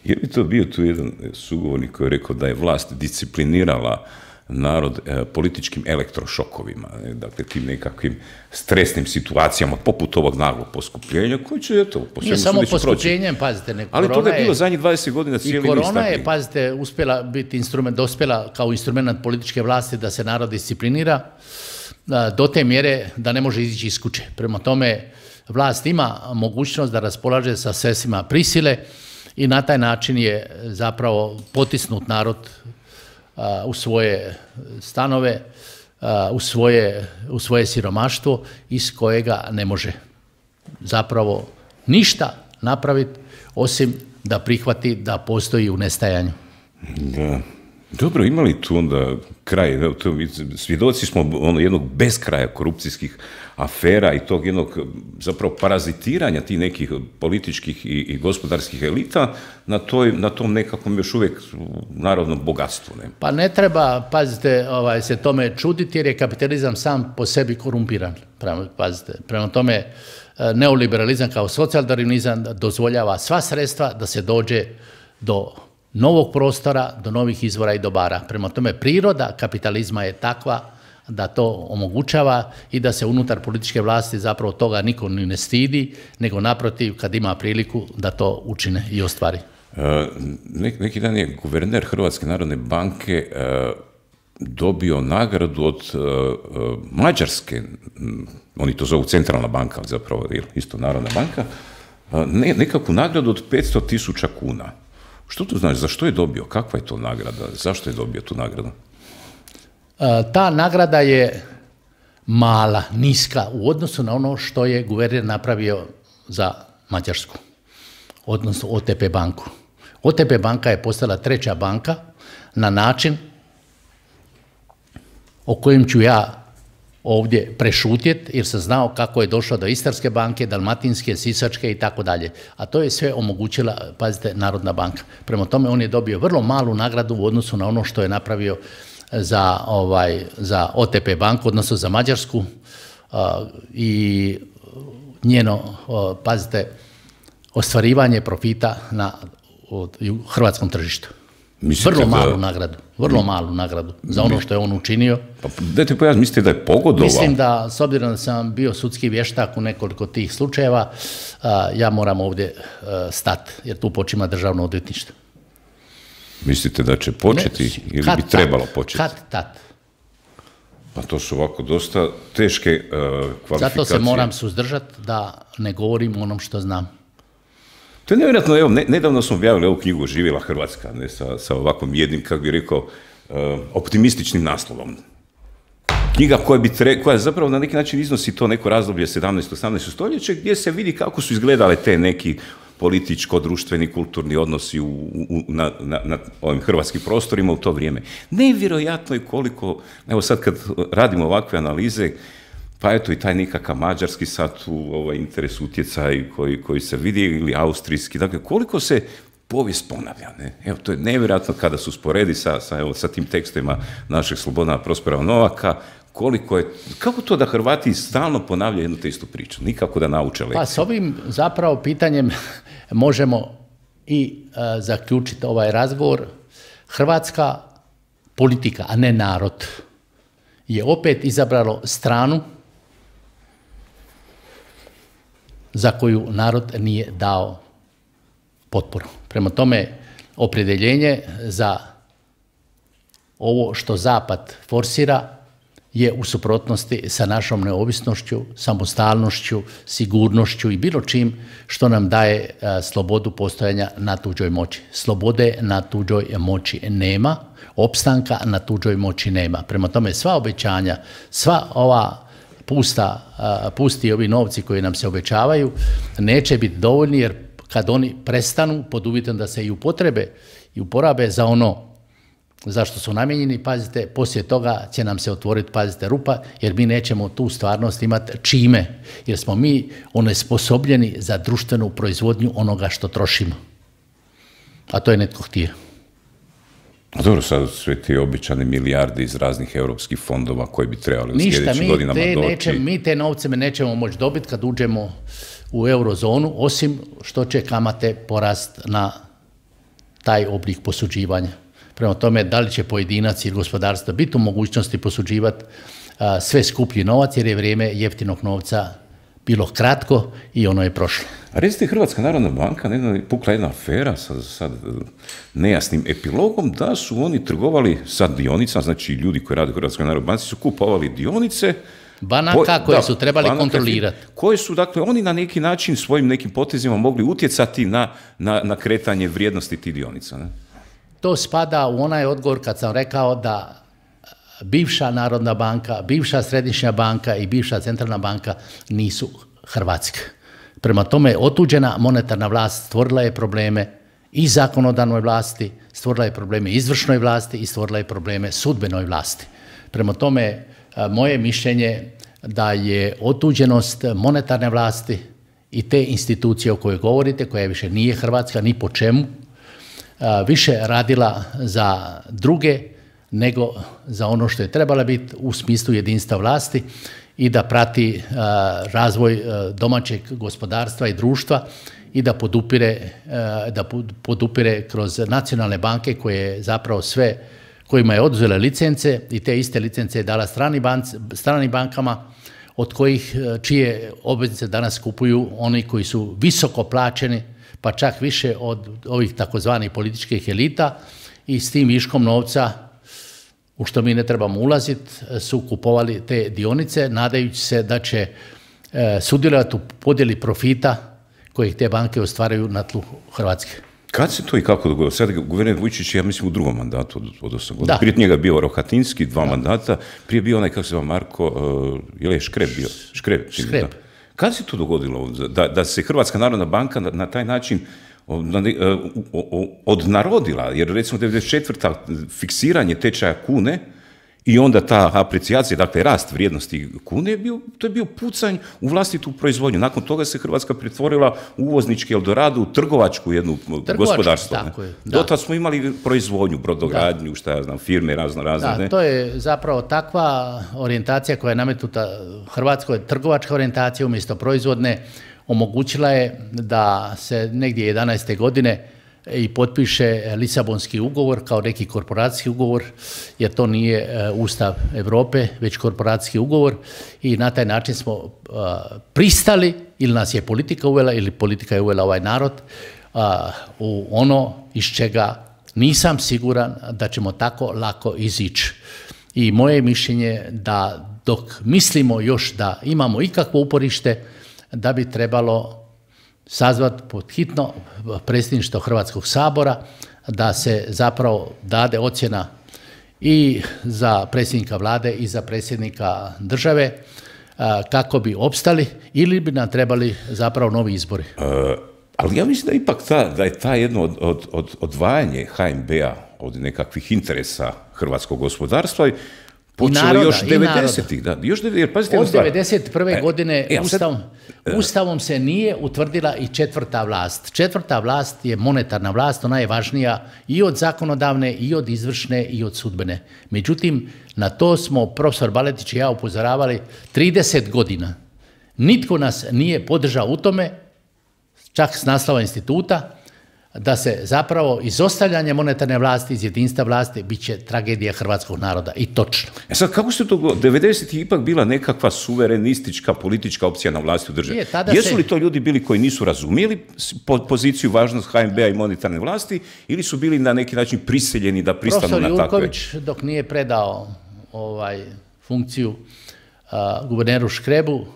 Je li to bio tu jedan sugovornik koji je rekao da je vlast disciplinirala narod političkim elektrošokovima, dakle tim nekakvim stresnim situacijama poput ovog naglog poskupljenja koji će, eto, po svemu samo poskupljenjem, pazite, ali to je bilo zadnjih 20 godina cijeli niz. I korona je, pazite, uspjela biti instrument, dospjela kao instrument političke vlasti da se narod disciplinira do te mjere da ne može izići iz kuće. Prema tome, vlast ima mogućnost da raspolaže sa sredstvima prisile i na taj način je zapravo potisnut narod u svoje stanove, u svoje siromaštvo iz kojega ne može zapravo ništa napraviti osim da prihvati da postoji u nestajanju. Da. Dobro, ima li tu onda kraj? Svjedoci smo jednog beskraja korupcijskih afera i tog jednog zapravo parazitiranja tih nekih političkih i gospodarskih elita na tom nekakvom još uvijek narodnom bogatstvu. Ne? Pa ne treba, pazite, se tome čuditi jer je kapitalizam sam po sebi korumpiran. Prema tome, neoliberalizam kao socijaldarvinizam dozvoljava sva sredstva da se dođe do novog prostora, do novih izvora i dobara. Prema tome, priroda kapitalizma je takva da to omogućava i da se unutar političke vlasti zapravo toga niko ni ne stidi, nego naprotiv, kad ima priliku da to učine i ostvari. Neki dan je guverner Hrvatske narodne banke dobio nagradu od Mađarske, oni to zovu centralna banka, ali zapravo je isto Narodna banka, nekakvu nagradu od 500.000 kuna. Što to znači? Zašto je dobio? Kakva je to nagrada? Zašto je dobio tu nagradu? Ta nagrada je mala, niska u odnosu na ono što je guverner napravio za Mađarsku, odnosno OTP banku. OTP banka je postala treća banka na način o kojem ću ja ovdje prešutjeti, jer sam znao kako je došlo do Istarske banke, Dalmatinske, Sisačke i tako dalje. A to je sve omogućila, pazite, Narodna banka. Prema tome, on je dobio vrlo malu nagradu u odnosu na ono što je napravio za OTP banku, odnosno za Mađarsku i njeno, pazite, ostvarivanje profita na hrvatskom tržištu. Vrlo malu nagradu za ono što je on učinio. Pa dajte pojasniti, mislite da je pogodovao? Mislim da, s obzirom da sam bio sudski vještak u nekoliko tih slučajeva, ja moram ovdje stati, jer tu počima državno odvjetništvo. Mislite da će početi ili bi trebalo početi? Kad-tad. Pa to su ovako dosta teške kvalifikacije. Zato se moram suzdržati da ne govorim onom što znam. To je nevjerojatno, evo, nedavno smo objavili ovu knjigu Živjela Hrvatska, ne, sa ovakvom jednim, kako bih rekao, optimističnim naslovom. Knjiga koja zapravo na neki način iznosi to neko razdoblje 17-18 stoljeće, gdje se vidi kako su izgledale te neki političko-društveni, kulturni odnosi na ovim hrvatskim prostorima u to vrijeme. Nevjerojatno je koliko, evo sad kad radimo ovakve analize, pa eto i taj nekakav mađarski sad u interes utjecaj koji se vidi, ili austrijski, dakle koliko se povijest ponavlja. Ne? Evo, to je nevjerojatno kada su sporedi sa tim tekstima našeg Slobodana Prospera Novaka, kako to da Hrvati stalno ponavljaju jednu te istu priču, nikako da nauče lekcije. Pa s ovim zapravo pitanjem možemo i zaključiti ovaj razgovor. Hrvatska politika, a ne narod, je opet izabralo stranu za koju narod nije dao potporu. Prema tome, opredjeljenje za ovo što Zapad forsira je u suprotnosti sa našom neovisnošću, samostalnošću, sigurnošću i bilo čim što nam daje slobodu postojanja na tuđoj moći. Slobode na tuđoj moći nema, opstanka na tuđoj moći nema. Prema tome, sva obećanja, sva ova pusti ovi novci koji nam se obećavaju neće biti dovoljni, jer kad oni prestanu, pod uvjetom da se i upotrebe i uporabe za ono zašto su namijenjeni, pazite, poslije toga će nam se otvoriti, pazite, rupa, jer mi nećemo tu stvarnost imati čime, jer smo mi onesposobljeni za društvenu proizvodnju onoga što trošimo. A to je netko htio. Dobro, sad sve ti običane milijarde iz raznih europskih fondova koji bi trebali u sljedećim godinama doći. Mi te novce nećemo moći dobiti kad uđemo u eurozonu, osim što će kamate porast na taj oblik posuđivanja. Prema tome, da li će pojedinac ili gospodarstvo biti u mogućnosti posuđivati sve skuplji novac, jer je vrijeme jeftinog novca bilo kratko i ono je prošlo. A recite, Hrvatska narodna banka, pukla jedna afera sa sad nejasnim epilogom, da su oni trgovali sa dionicama, znači ljudi koji rade u Hrvatskoj narodnoj banci su kupovali dionice banaka koje su trebali kontrolirati. Koje su, dakle, oni na neki način svojim nekim potezima mogli utjecati na kretanje vrijednosti tih dionica. Ne? To spada u onaj odgovor kad sam rekao da bivša Narodna banka, bivša Središnja banka i bivša Centralna banka nisu hrvatske. Prema tome, otuđena monetarna vlast stvorila je probleme i zakonodavnoj vlasti, stvorila je probleme izvršnoj vlasti i stvorila je probleme sudbenoj vlasti. Prema tome, moje mišljenje da je otuđenost monetarne vlasti i te institucije o kojoj govorite, koja više nije hrvatska ni po čemu, više radila za druge nego za ono što je trebala biti u smislu jedinstva vlasti i da prati razvoj domaćeg gospodarstva i društva i da podupire kroz nacionalne banke koje zapravo sve, kojima je oduzela licence i te iste licence je dala stranim bankama od kojih čije obveznice danas kupuju oni koji su visoko plaćeni, pa čak više od ovih takozvanih političkih elita i s tim viškom novca, u što mi ne trebamo ulaziti, su kupovali te dionice, nadajući se da će sudjelovati u podjeli profita kojih te banke ostvaraju na tlu Hrvatske. Kad se to i kako dogodilo? Sad guverner Vujčić, ja mislim, u drugom mandatu od 8 godina. Prije njega je bio Rohatinski, 2 mandata, prije bio onaj, kako se zove, Marko, je li Škreb bio? Škreb. Kad se to dogodilo? Da se Hrvatska narodna banka na taj način odnarodila, jer recimo 94. fiksiranje tečaja kune i onda ta aprecijacija, dakle rast vrijednosti kune, to je bio pucanj u vlastitu proizvodnju. Nakon toga se Hrvatska pretvorila u uvoznički Eldorado, u trgovačku jednu gospodarstvo. Do tada smo imali proizvodnju, brodogradnju, šta ja znam, firme razne. Da, to je zapravo takva orijentacija koja je nametnuta Hrvatskoj, trgovačka orijentacija umjesto proizvodne, omogućila je da se negdje 11. godine i potpiše Lisabonski ugovor kao neki korporacijski ugovor, jer to nije Ustav Europe, već korporacijski ugovor i na taj način smo pristali, ili nas je politika uvela, ili politika je uvela ovaj narod, u ono iz čega nisam siguran da ćemo tako lako izići. I moje mišljenje da dok mislimo još da imamo ikakvo uporište, da bi trebalo sazvati pod hitno predsjedništvo Hrvatskog sabora, da se zapravo dade ocjena i za predsjednika vlade i za predsjednika države kako bi opstali ili bi nam trebali zapravo novi izbori. Ali ja mislim da ipak da je ta jedno odvajanje HNB-a od nekakvih interesa hrvatskog gospodarstva počelo još 90-ih. Od 1991. godine Ustavom se nije utvrdila i četvrta vlast. Četvrta vlast je monetarna vlast, ona je važnija i od zakonodavne, i od izvršne, i od sudbene. Međutim, na to smo profesor Baletić i ja upozoravali 30 godina. Nitko nas nije podržao u tome, čak s naslova instituta, da se zapravo izostavljanje monetarne vlasti iz jedinstva vlasti bit će tragedija hrvatskog naroda. I točno. Sad, kako se to 90-ih ipak bila nekakva suverenistička politička opcija na vlasti u državi? Jesu li to ljudi bili koji nisu razumjeli poziciju, važnost HNB-a i monetarne vlasti ili su bili na neki način prisiljeni da pristanu na takve? Profesor Jurković, dok nije predao funkciju guverneru Škrebu,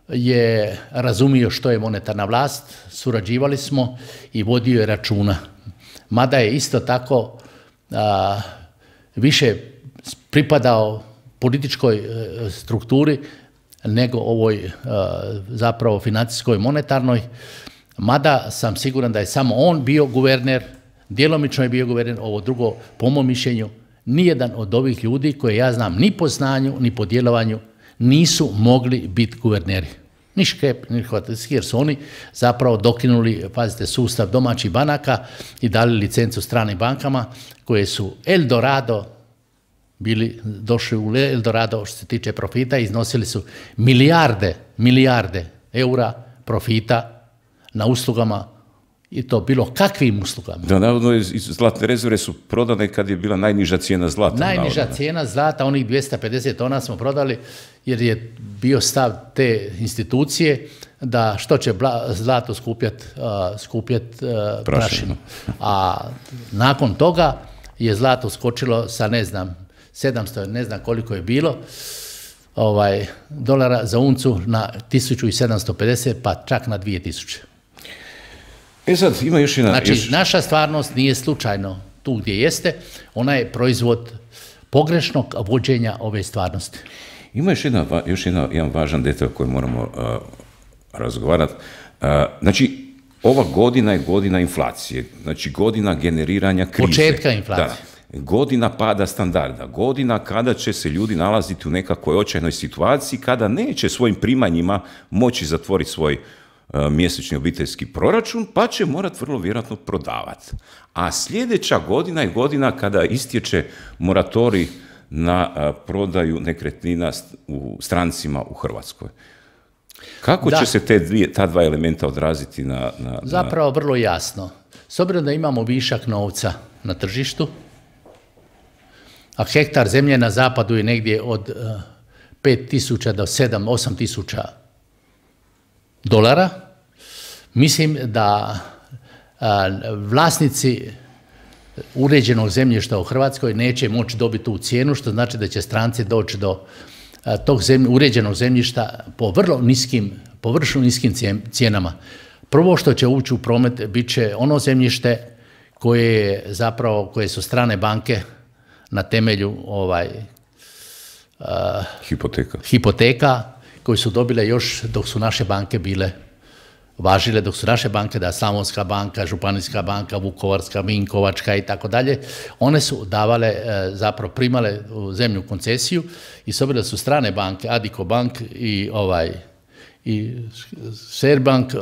je razumio što je monetarna vlast, surađivali smo i vodio je računa. Mada je isto tako više pripadao političkoj strukturi nego ovoj zapravo financijskoj monetarnoj, mada sam siguran da je samo on bio guverner, djelomično je bio guverner, ovo drugo, po mom mišljenju, nijedan od ovih ljudi koje ja znam ni po znanju, ni po djelovanju, nisu mogli biti guverneri. Ni Škreb, ni Rohatinski, jer su oni zapravo dokinuli, pazite, sustav domaćih banaka i dali licencu stranim bankama koje su došli u Eldorado što se tiče profita, iznosili su milijarde eura profita na uslugama i to bilo kakvim uslugama. Da, navodno, zlatne rezerve su prodane kad je bila najniža cijena zlata. Najniža cijena zlata, onih 250 tona smo prodali jer je bio stav te institucije da što će zlato skupljati prašinu. A nakon toga je zlato skočilo sa, ne znam, 700, ne znam koliko je bilo, dolara za uncu na 1750 pa čak na 2000. Sad ima još jedna... Znači, naša stvarnost nije slučajno tu gdje jeste, ona je proizvod pogrešnog vođenja ove stvarnosti. Ima još jedan važan detalj koji moramo razgovarati. Znači, ova godina je godina inflacije, znači godina generiranja krize. Početka inflacije. Da, godina pada standarda, godina kada će se ljudi nalaziti u nekakvoj očajnoj situaciji, kada neće svojim primanjima moći zatvoriti svoj mjesečni obiteljski proračun, pa će morati vrlo vjerojatno prodavati. A sljedeća godina je godina kada istječe moratorij na prodaju nekretnina u strancima u Hrvatskoj. Kako će se ta dva elementa odraziti na... Zapravo vrlo jasno. S obzirom da imamo višak novca na tržištu, a hektar zemlje na zapadu je negdje od 5.000 do 7-8.000 dolara, mislim da vlasnici uređenog zemljišta u Hrvatskoj neće moći dobiti tu cijenu, što znači da će stranci doći do tog uređenog zemljišta po vrlo niskim cijenama. Prvo što će ući u promet bit će ono zemljište koje su strane banke na temelju hipoteka koje su dobile još dok su naše banke bile važile, dok su naše banke, da Slavonska banka, Županijska banka, Vukovarska, Vinkovačka i tako dalje, one su davale, zapravo primale zemlju u koncesiju i s obzirom da su strane banke, Addiko Bank i Sberbank,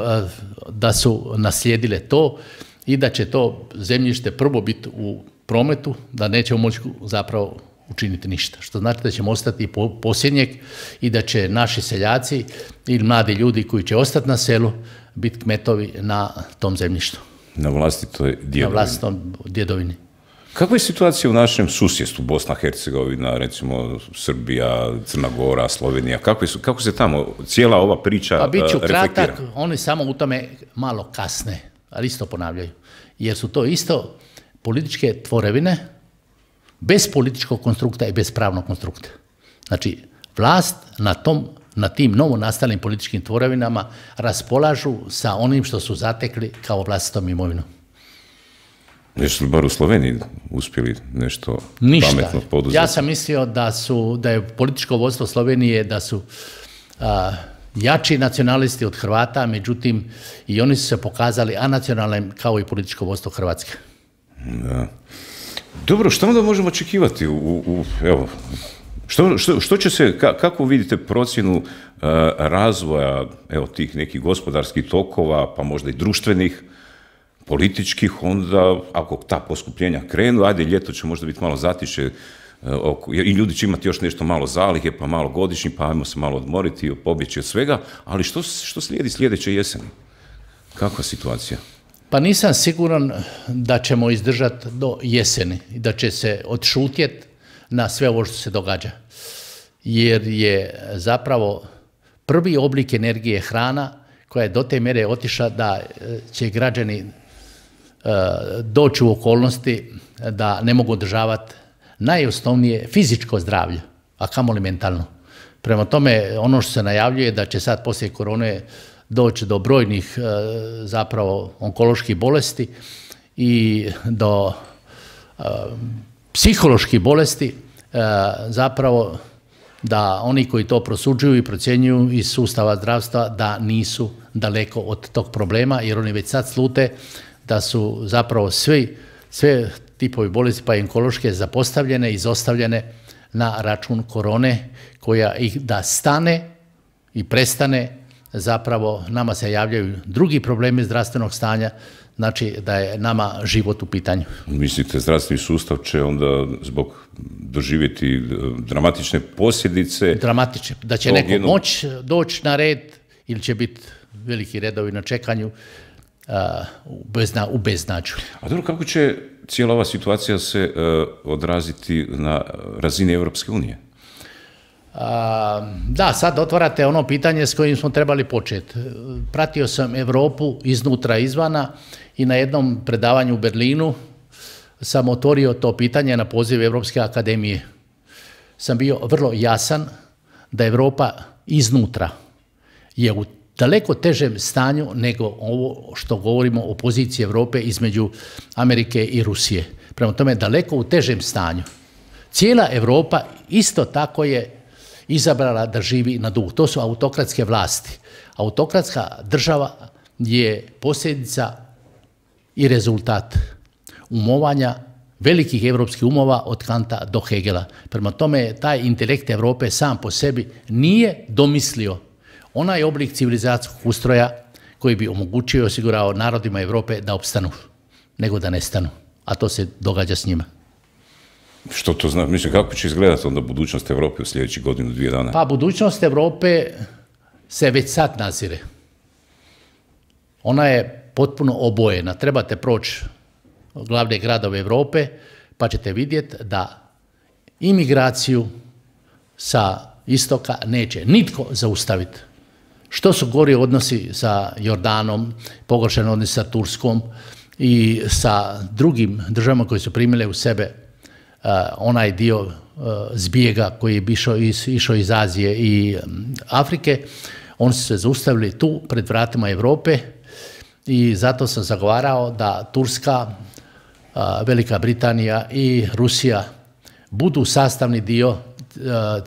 da su naslijedile to i da će to zemljište prvo biti u prometu, da nećemo moći zapravo učiniti ništa. Što znači da ćemo ostati posljednjeg i da će naši seljaci ili mladi ljudi koji će ostati na selu biti kmetovi na tom zemljištu. Na vlastitoj djedovini. Na vlastitom djedovini. Kakva je situacija u našem susjedstvu, Bosna, Hercegovina, recimo Srbija, Crna Gora, Slovenija? Kako se tamo cijela ova priča reflektira? Pa bit ću kratak, oni samo u tome malo kasne, ali isto ponavljaju. Jer su to isto političke tvorevine, bez političkog konstrukta i bez pravnog konstrukta. Znači, vlast na tim novonastalim političkim tvorevinama raspolažu sa onim što su zatekli kao vlastitom imovinom. Jesu li bar u Sloveniji uspjeli nešto pametno poduzeti? Ništa. Ja sam mislio da je političko vodstvo Slovenije, da su jači nacionalisti od Hrvata, međutim i oni su se pokazali anacionalnim kao i političko vodstvo Hrvatske. Da. Dobro, što onda možemo očekivati? Evo, što će se, kako vidite procjenu razvoja tih nekih gospodarskih tokova, pa možda i društvenih, političkih, onda ako ta poskupljenja krenu, ajde, ljeto će možda biti malo zatiše i ljudi će imati još nešto malo zalihe, pa malo godišnji, pa ajmo se malo odmoriti, pobjeći od svega, ali što slijedi sljedeće jeseni? Kakva situacija? Pa nisam siguran da ćemo izdržati do jeseni i da će se odšutjeti na sve ovo što se događa. Jer je zapravo prvi oblik energije hrana koja je do te mjere otišla da će građani doći u okolnosti da ne mogu održavati najosnovnije fizičko zdravlje, a kamoli mentalno. Prema tome, ono što se najavljuje da će sad poslije korone doći do brojnih zapravo onkoloških bolesti i do psiholoških bolesti, zapravo da oni koji to prosuđuju i procjenjuju iz sustava zdravstva da nisu daleko od tog problema, jer oni već sad slute da su zapravo sve tipovi bolesti pa i onkološke zapostavljene, izostavljene na račun korone, koja ih da stane i prestane, zapravo nama se javljaju drugi problemi zdravstvenog stanja, znači da je nama život u pitanju. Mislite, zdravstveni sustav će onda zbog doživjeti dramatične posljedice? Dramatične, da će neko moći doći na red ili će biti veliki redovi na čekanju u beznađu. A dobro, kako će cijela ova situacija se odraziti na razini Europske unije? Da, sad otvarate ono pitanje s kojim smo trebali početi. Pratio sam Europu iznutra izvana i na jednom predavanju u Berlinu sam otvorio to pitanje na poziv Europske akademije. Sam bio vrlo jasan da Europa iznutra je u daleko težem stanju nego ovo što govorimo o poziciji Europe između Amerike i Rusije. Prema tome, daleko u težem stanju. Cijela Europa isto tako je izabrala da živi na dug. To su autokratske vlasti. Autokratska država je posljedica i rezultat umovanja velikih evropskih umova od Kanta do Hegela. Prema tome, taj intelekt Europe sam po sebi nije domislio onaj oblik civilizacijskog ustroja koji bi omogućio i osigurao narodima Europe da opstanu, nego da nestanu. A to se događa s njima. Što to znači? Mislim, kako će izgledati onda budućnost Europe u sljedećih godinu, 2 dana? Pa budućnost Europe se već sad nazire. Ona je potpuno obojena. Trebate proći glavne gradove Europe pa ćete vidjeti da imigraciju sa istoka neće nitko zaustaviti. Što su gori odnosi sa Jordanom, pogoršani odnosi sa Turskom i sa drugim državama koje su primile u sebe onaj dio zbjega koji je išao iz Azije i Afrike, oni su se zaustavili tu pred vratima Europe i zato sam zagovarao da Turska, Velika Britanija i Rusija budu sastavni dio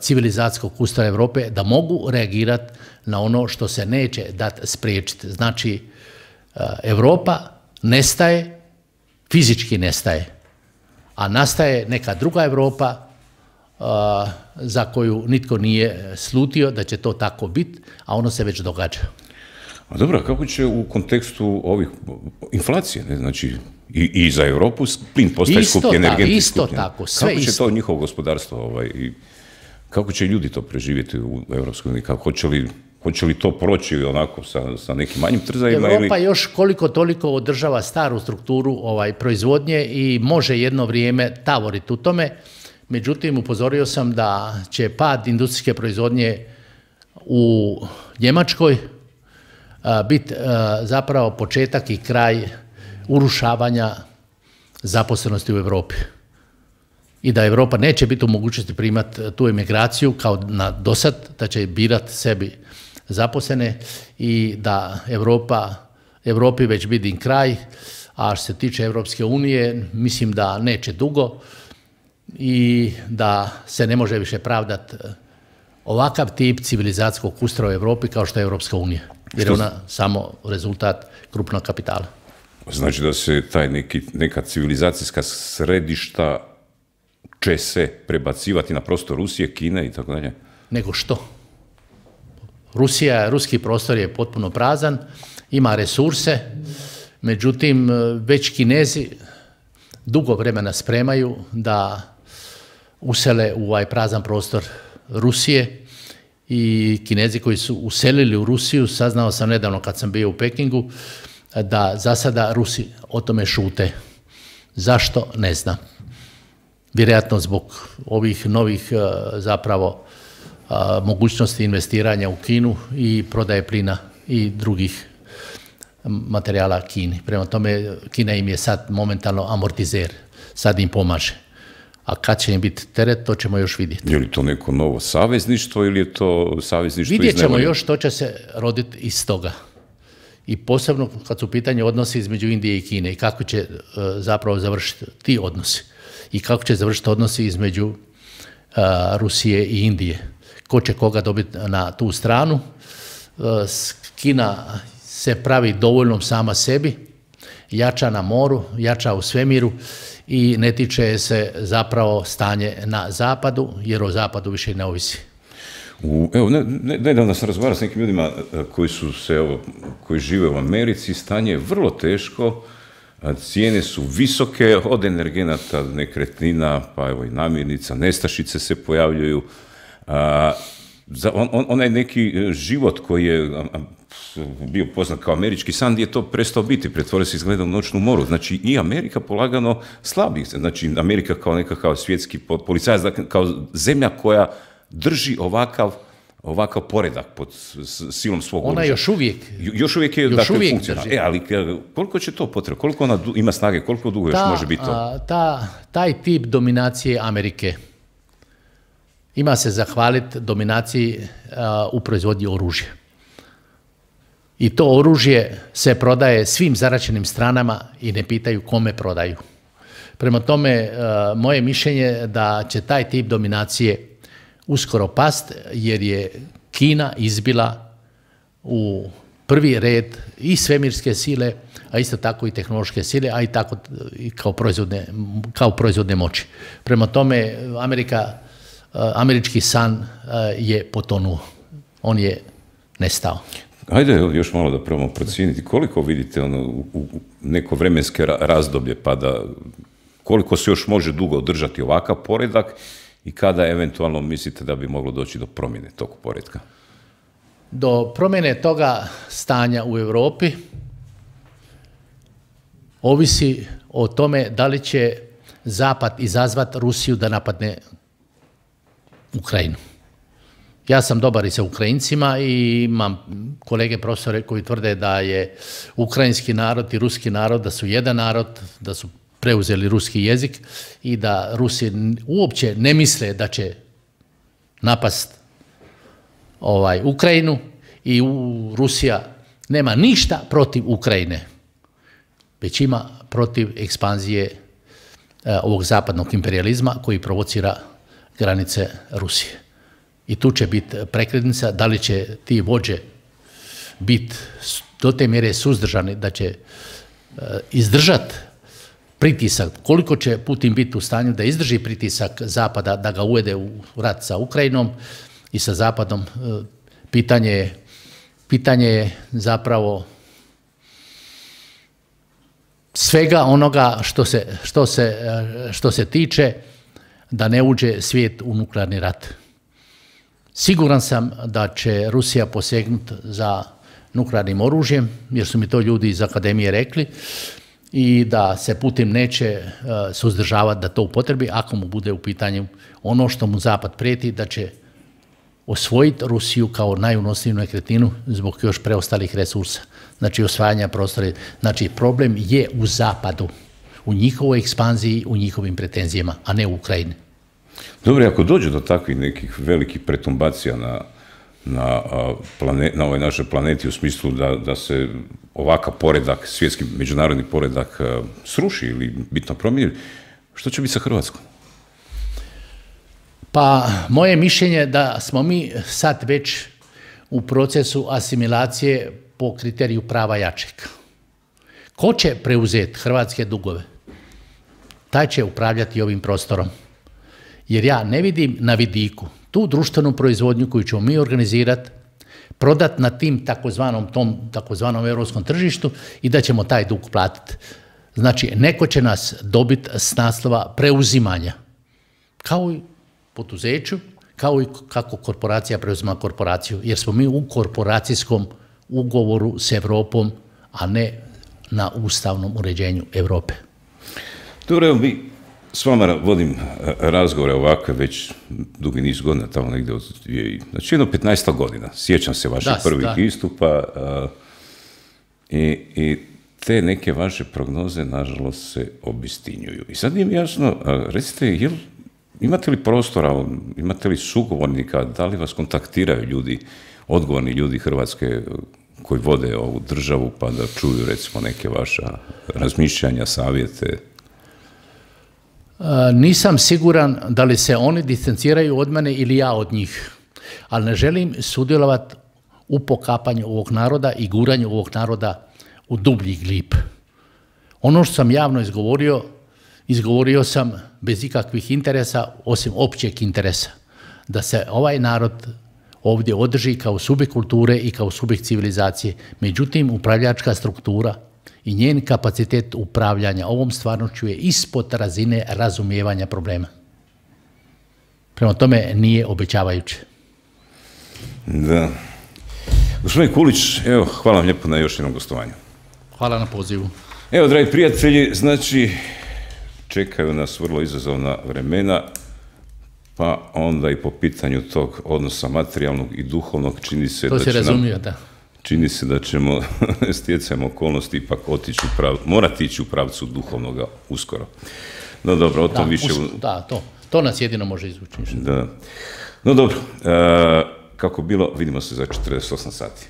civilizacijskog ustroja Europe, da mogu reagirati na ono što se neće dati spriječiti. Znači, Europa nestaje, fizički nestaje, a nastaje neka druga Europa za koju nitko nije slutio da će to tako biti, a ono se već događa. A dobro, kako će u kontekstu ovih inflacije, ne, znači i za Europu plin postaje skuplji, energenti skuplji. Tako, sve kako će isto. to njihovo gospodarstvo i kako će ljudi to preživjeti u Europskoj uniji? Hoće li to proći onako sa nekim manjim trzajima? Europa još koliko toliko održava staru strukturu proizvodnje i može jedno vrijeme tavoriti u tome. Međutim, upozorio sam da će pad industrijske proizvodnje u Njemačkoj biti zapravo početak i kraj urušavanja zaposlenosti u Europi. I da Europa neće biti u mogućnosti primati tu emigraciju kao na dosad, da će birati sebi zaposlene i da Europi već vidi kraj, a što se tiče Europske unije, mislim da neće dugo i da se ne može više pravdati ovakav tip civilizacijskog ustroja u Europi kao što je Europska unija, jer je ona samo rezultat krupnog kapitala. Znači da se neka civilizacijska središta će se prebacivati na prostor Rusije, Kine i tako dalje? Nego što? Ruski prostor je potpuno prazan, ima resurse, međutim već Kinezi dugo vremena spremaju da usele u ovaj prazan prostor Rusije i Kinezi koji su uselili u Rusiju, saznao sam nedavno kad sam bio u Pekingu, da za sada Rusi o tome šute. Zašto? Ne znam. Vjerojatno zbog ovih novih zapravo mogućnosti investiranja u Kinu i prodaje plina i drugih materijala Kini. Prema tome, Kina im je sad momentalno amortizer, sad im pomaže. A kad će im biti teret, to ćemo još vidjeti. Je li to neko novo savezništvo ili je to savezništvo iz Vidjet ćemo još što će se roditi iz toga. I posebno kad su u pitanju odnosi između Indije i Kine i kako će zapravo završiti ti odnosi. I kako će završiti odnosi između Rusije i Indije. Ko će koga dobiti na tu stranu. Kina se pravi dovoljnom sama sebi, jača na moru, jača u svemiru i ne tiče se zapravo stanje na zapadu, jer o zapadu više ne ovisi. Evo, nedavno sam razgovarao s nekim ljudima koji žive u Americi, stanje je vrlo teško, cijene su visoke, od energenata, nekretnina, pa evo i namirnica, nestašice se pojavljuju. Onaj neki život koji je bio poznat kao američki san, je to prestao biti, pretvorio se izgleda u noćnu moru. Znači i Amerika polagano slabi. Znači Amerika kao nekakav svjetski policajac, kao zemlja koja drži ovakav poredak pod silom svog oružja. Ona još uvijek je funkcionalna. Ali koliko će to potrebno? Koliko ona ima snage? Koliko dugo još može biti to? Taj tip dominacije Amerike ima se zahvaliti dominaciji u proizvodnji oružja. I to oružje se prodaje svim zaraćenim stranama i ne pitaju kome prodaju. Prema tome, moje mišljenje da će taj tip dominacije uskoro past, jer je Kina izbila u prvi red i svemirske sile, a isto tako i tehnološke sile, a i tako i kao proizvodne moći. Prema tome, američki san je potonuo. On je nestao. Ajde još malo da probamo procijeniti koliko vidite u neko vremenske razdoblje, pa da koliko se još može dugo održati ovakav poredak i kada eventualno mislite da bi moglo doći do promjene tog poretka? Do promjene toga stanja u Europi ovisi o tome da li će Zapad izazvati Rusiju da napadne Ukrajinu. Ja sam dobar i sa Ukrajincima i imam kolege profesore koji tvrde da je ukrajinski narod i ruski narod, da su jedan narod, da su preuzeli ruski jezik i da Rusi uopće ne misle da će napast Ukrajinu i Rusija nema ništa protiv Ukrajine, već ima protiv ekspanzije ovog zapadnog imperializma koji provocira granice Rusije. I tu će biti prekretnica, da li će ti vođe biti do te mjere suzdržani da će izdržati pritisak, koliko će Putin biti u stanju da izdrži pritisak Zapada, da ga uvede u rat sa Ukrajinom i sa Zapadom. Pitanje je zapravo svega onoga što se tiče da ne uđe svijet u nuklearni rat. Siguran sam da će Rusija posegnuti za nuklearnim oružjem, jer su mi to ljudi iz akademije rekli, i da se Putin neće suzdržavati da to upotrebi ako mu bude u pitanju ono što mu Zapad prijeti, da će osvojiti Rusiju kao najunosniju nekretninu zbog još preostalih resursa, znači osvajanja prostora. Znači problem je u Zapadu, u njihovoj ekspanziji, u njihovim pretenzijama, a ne u Ukrajini. Dobro, ako dođe do takvih nekih velikih pretumbacija na ovoj našoj planeti u smislu da se ovakav poredak, svjetski međunarodni poredak sruši ili bitno promijeni, što će biti sa Hrvatskom? Pa moje mišljenje je da smo mi sad već u procesu asimilacije po kriteriju prava jačeg. Ko će preuzeti hrvatske dugove? Taj će upravljati ovim prostorom. Jer ja ne vidim na vidiku tu društvenu proizvodnju koju ćemo mi organizirati, prodati na takozvanom europskom tržištu i da ćemo taj dug platiti. Znači, neko će nas dobiti s naslova preuzimanja. Kao i poduzeću, kao i kako korporacija preuzima korporaciju. Jer smo mi u korporacijskom ugovoru s Europom, a ne na ustavnom uređenju Europe. Dobro, evo s vama vodim razgovore ovakve već dugi niz godina, tamo negdje znači jedno 15 godina. Sjećam se vaših prvih istupa i te neke vaše prognoze, nažalost, se obistinjuju. I sad nije mi jasno, recite, imate li prostora, imate li sugovornika, da li vas kontaktiraju ljudi, odgovorni ljudi Hrvatske koji vode ovu državu, pa da čuju, recimo, neke vaša razmišljanja, savjete? Nisam siguran da li se oni distanciraju od mene ili ja od njih, ali ne želim sudjelovati u pokapanju ovog naroda i guranju ovog naroda u dublji glib. Ono što sam javno izgovorio sam bez ikakvih interesa, osim općeg interesa, da se ovaj narod ovdje održi kao subjekt kulture i kao subjekt civilizacije. Međutim, upravljačka struktura i njen kapacitet upravljanja ovom stvarnošću je ispod razine razumijevanja problema. Prema tome nije obećavajuće. Da. Gospodin Kulić, evo, hvala vam lijepo na još jednom gostovanju. Hvala na pozivu. Evo, dragi prijatelji, znači, čekaju nas vrlo izazovna vremena, pa onda i po pitanju tog odnosa materijalnog i duhovnog čini se da ćemo stjecajem okolnosti ipak morati ići u pravcu duhovnoga uskoro. No dobro, o tom više... Da, to. To nas jedino može izvući. Da. No dobro, kako bilo, vidimo se za 48 sati.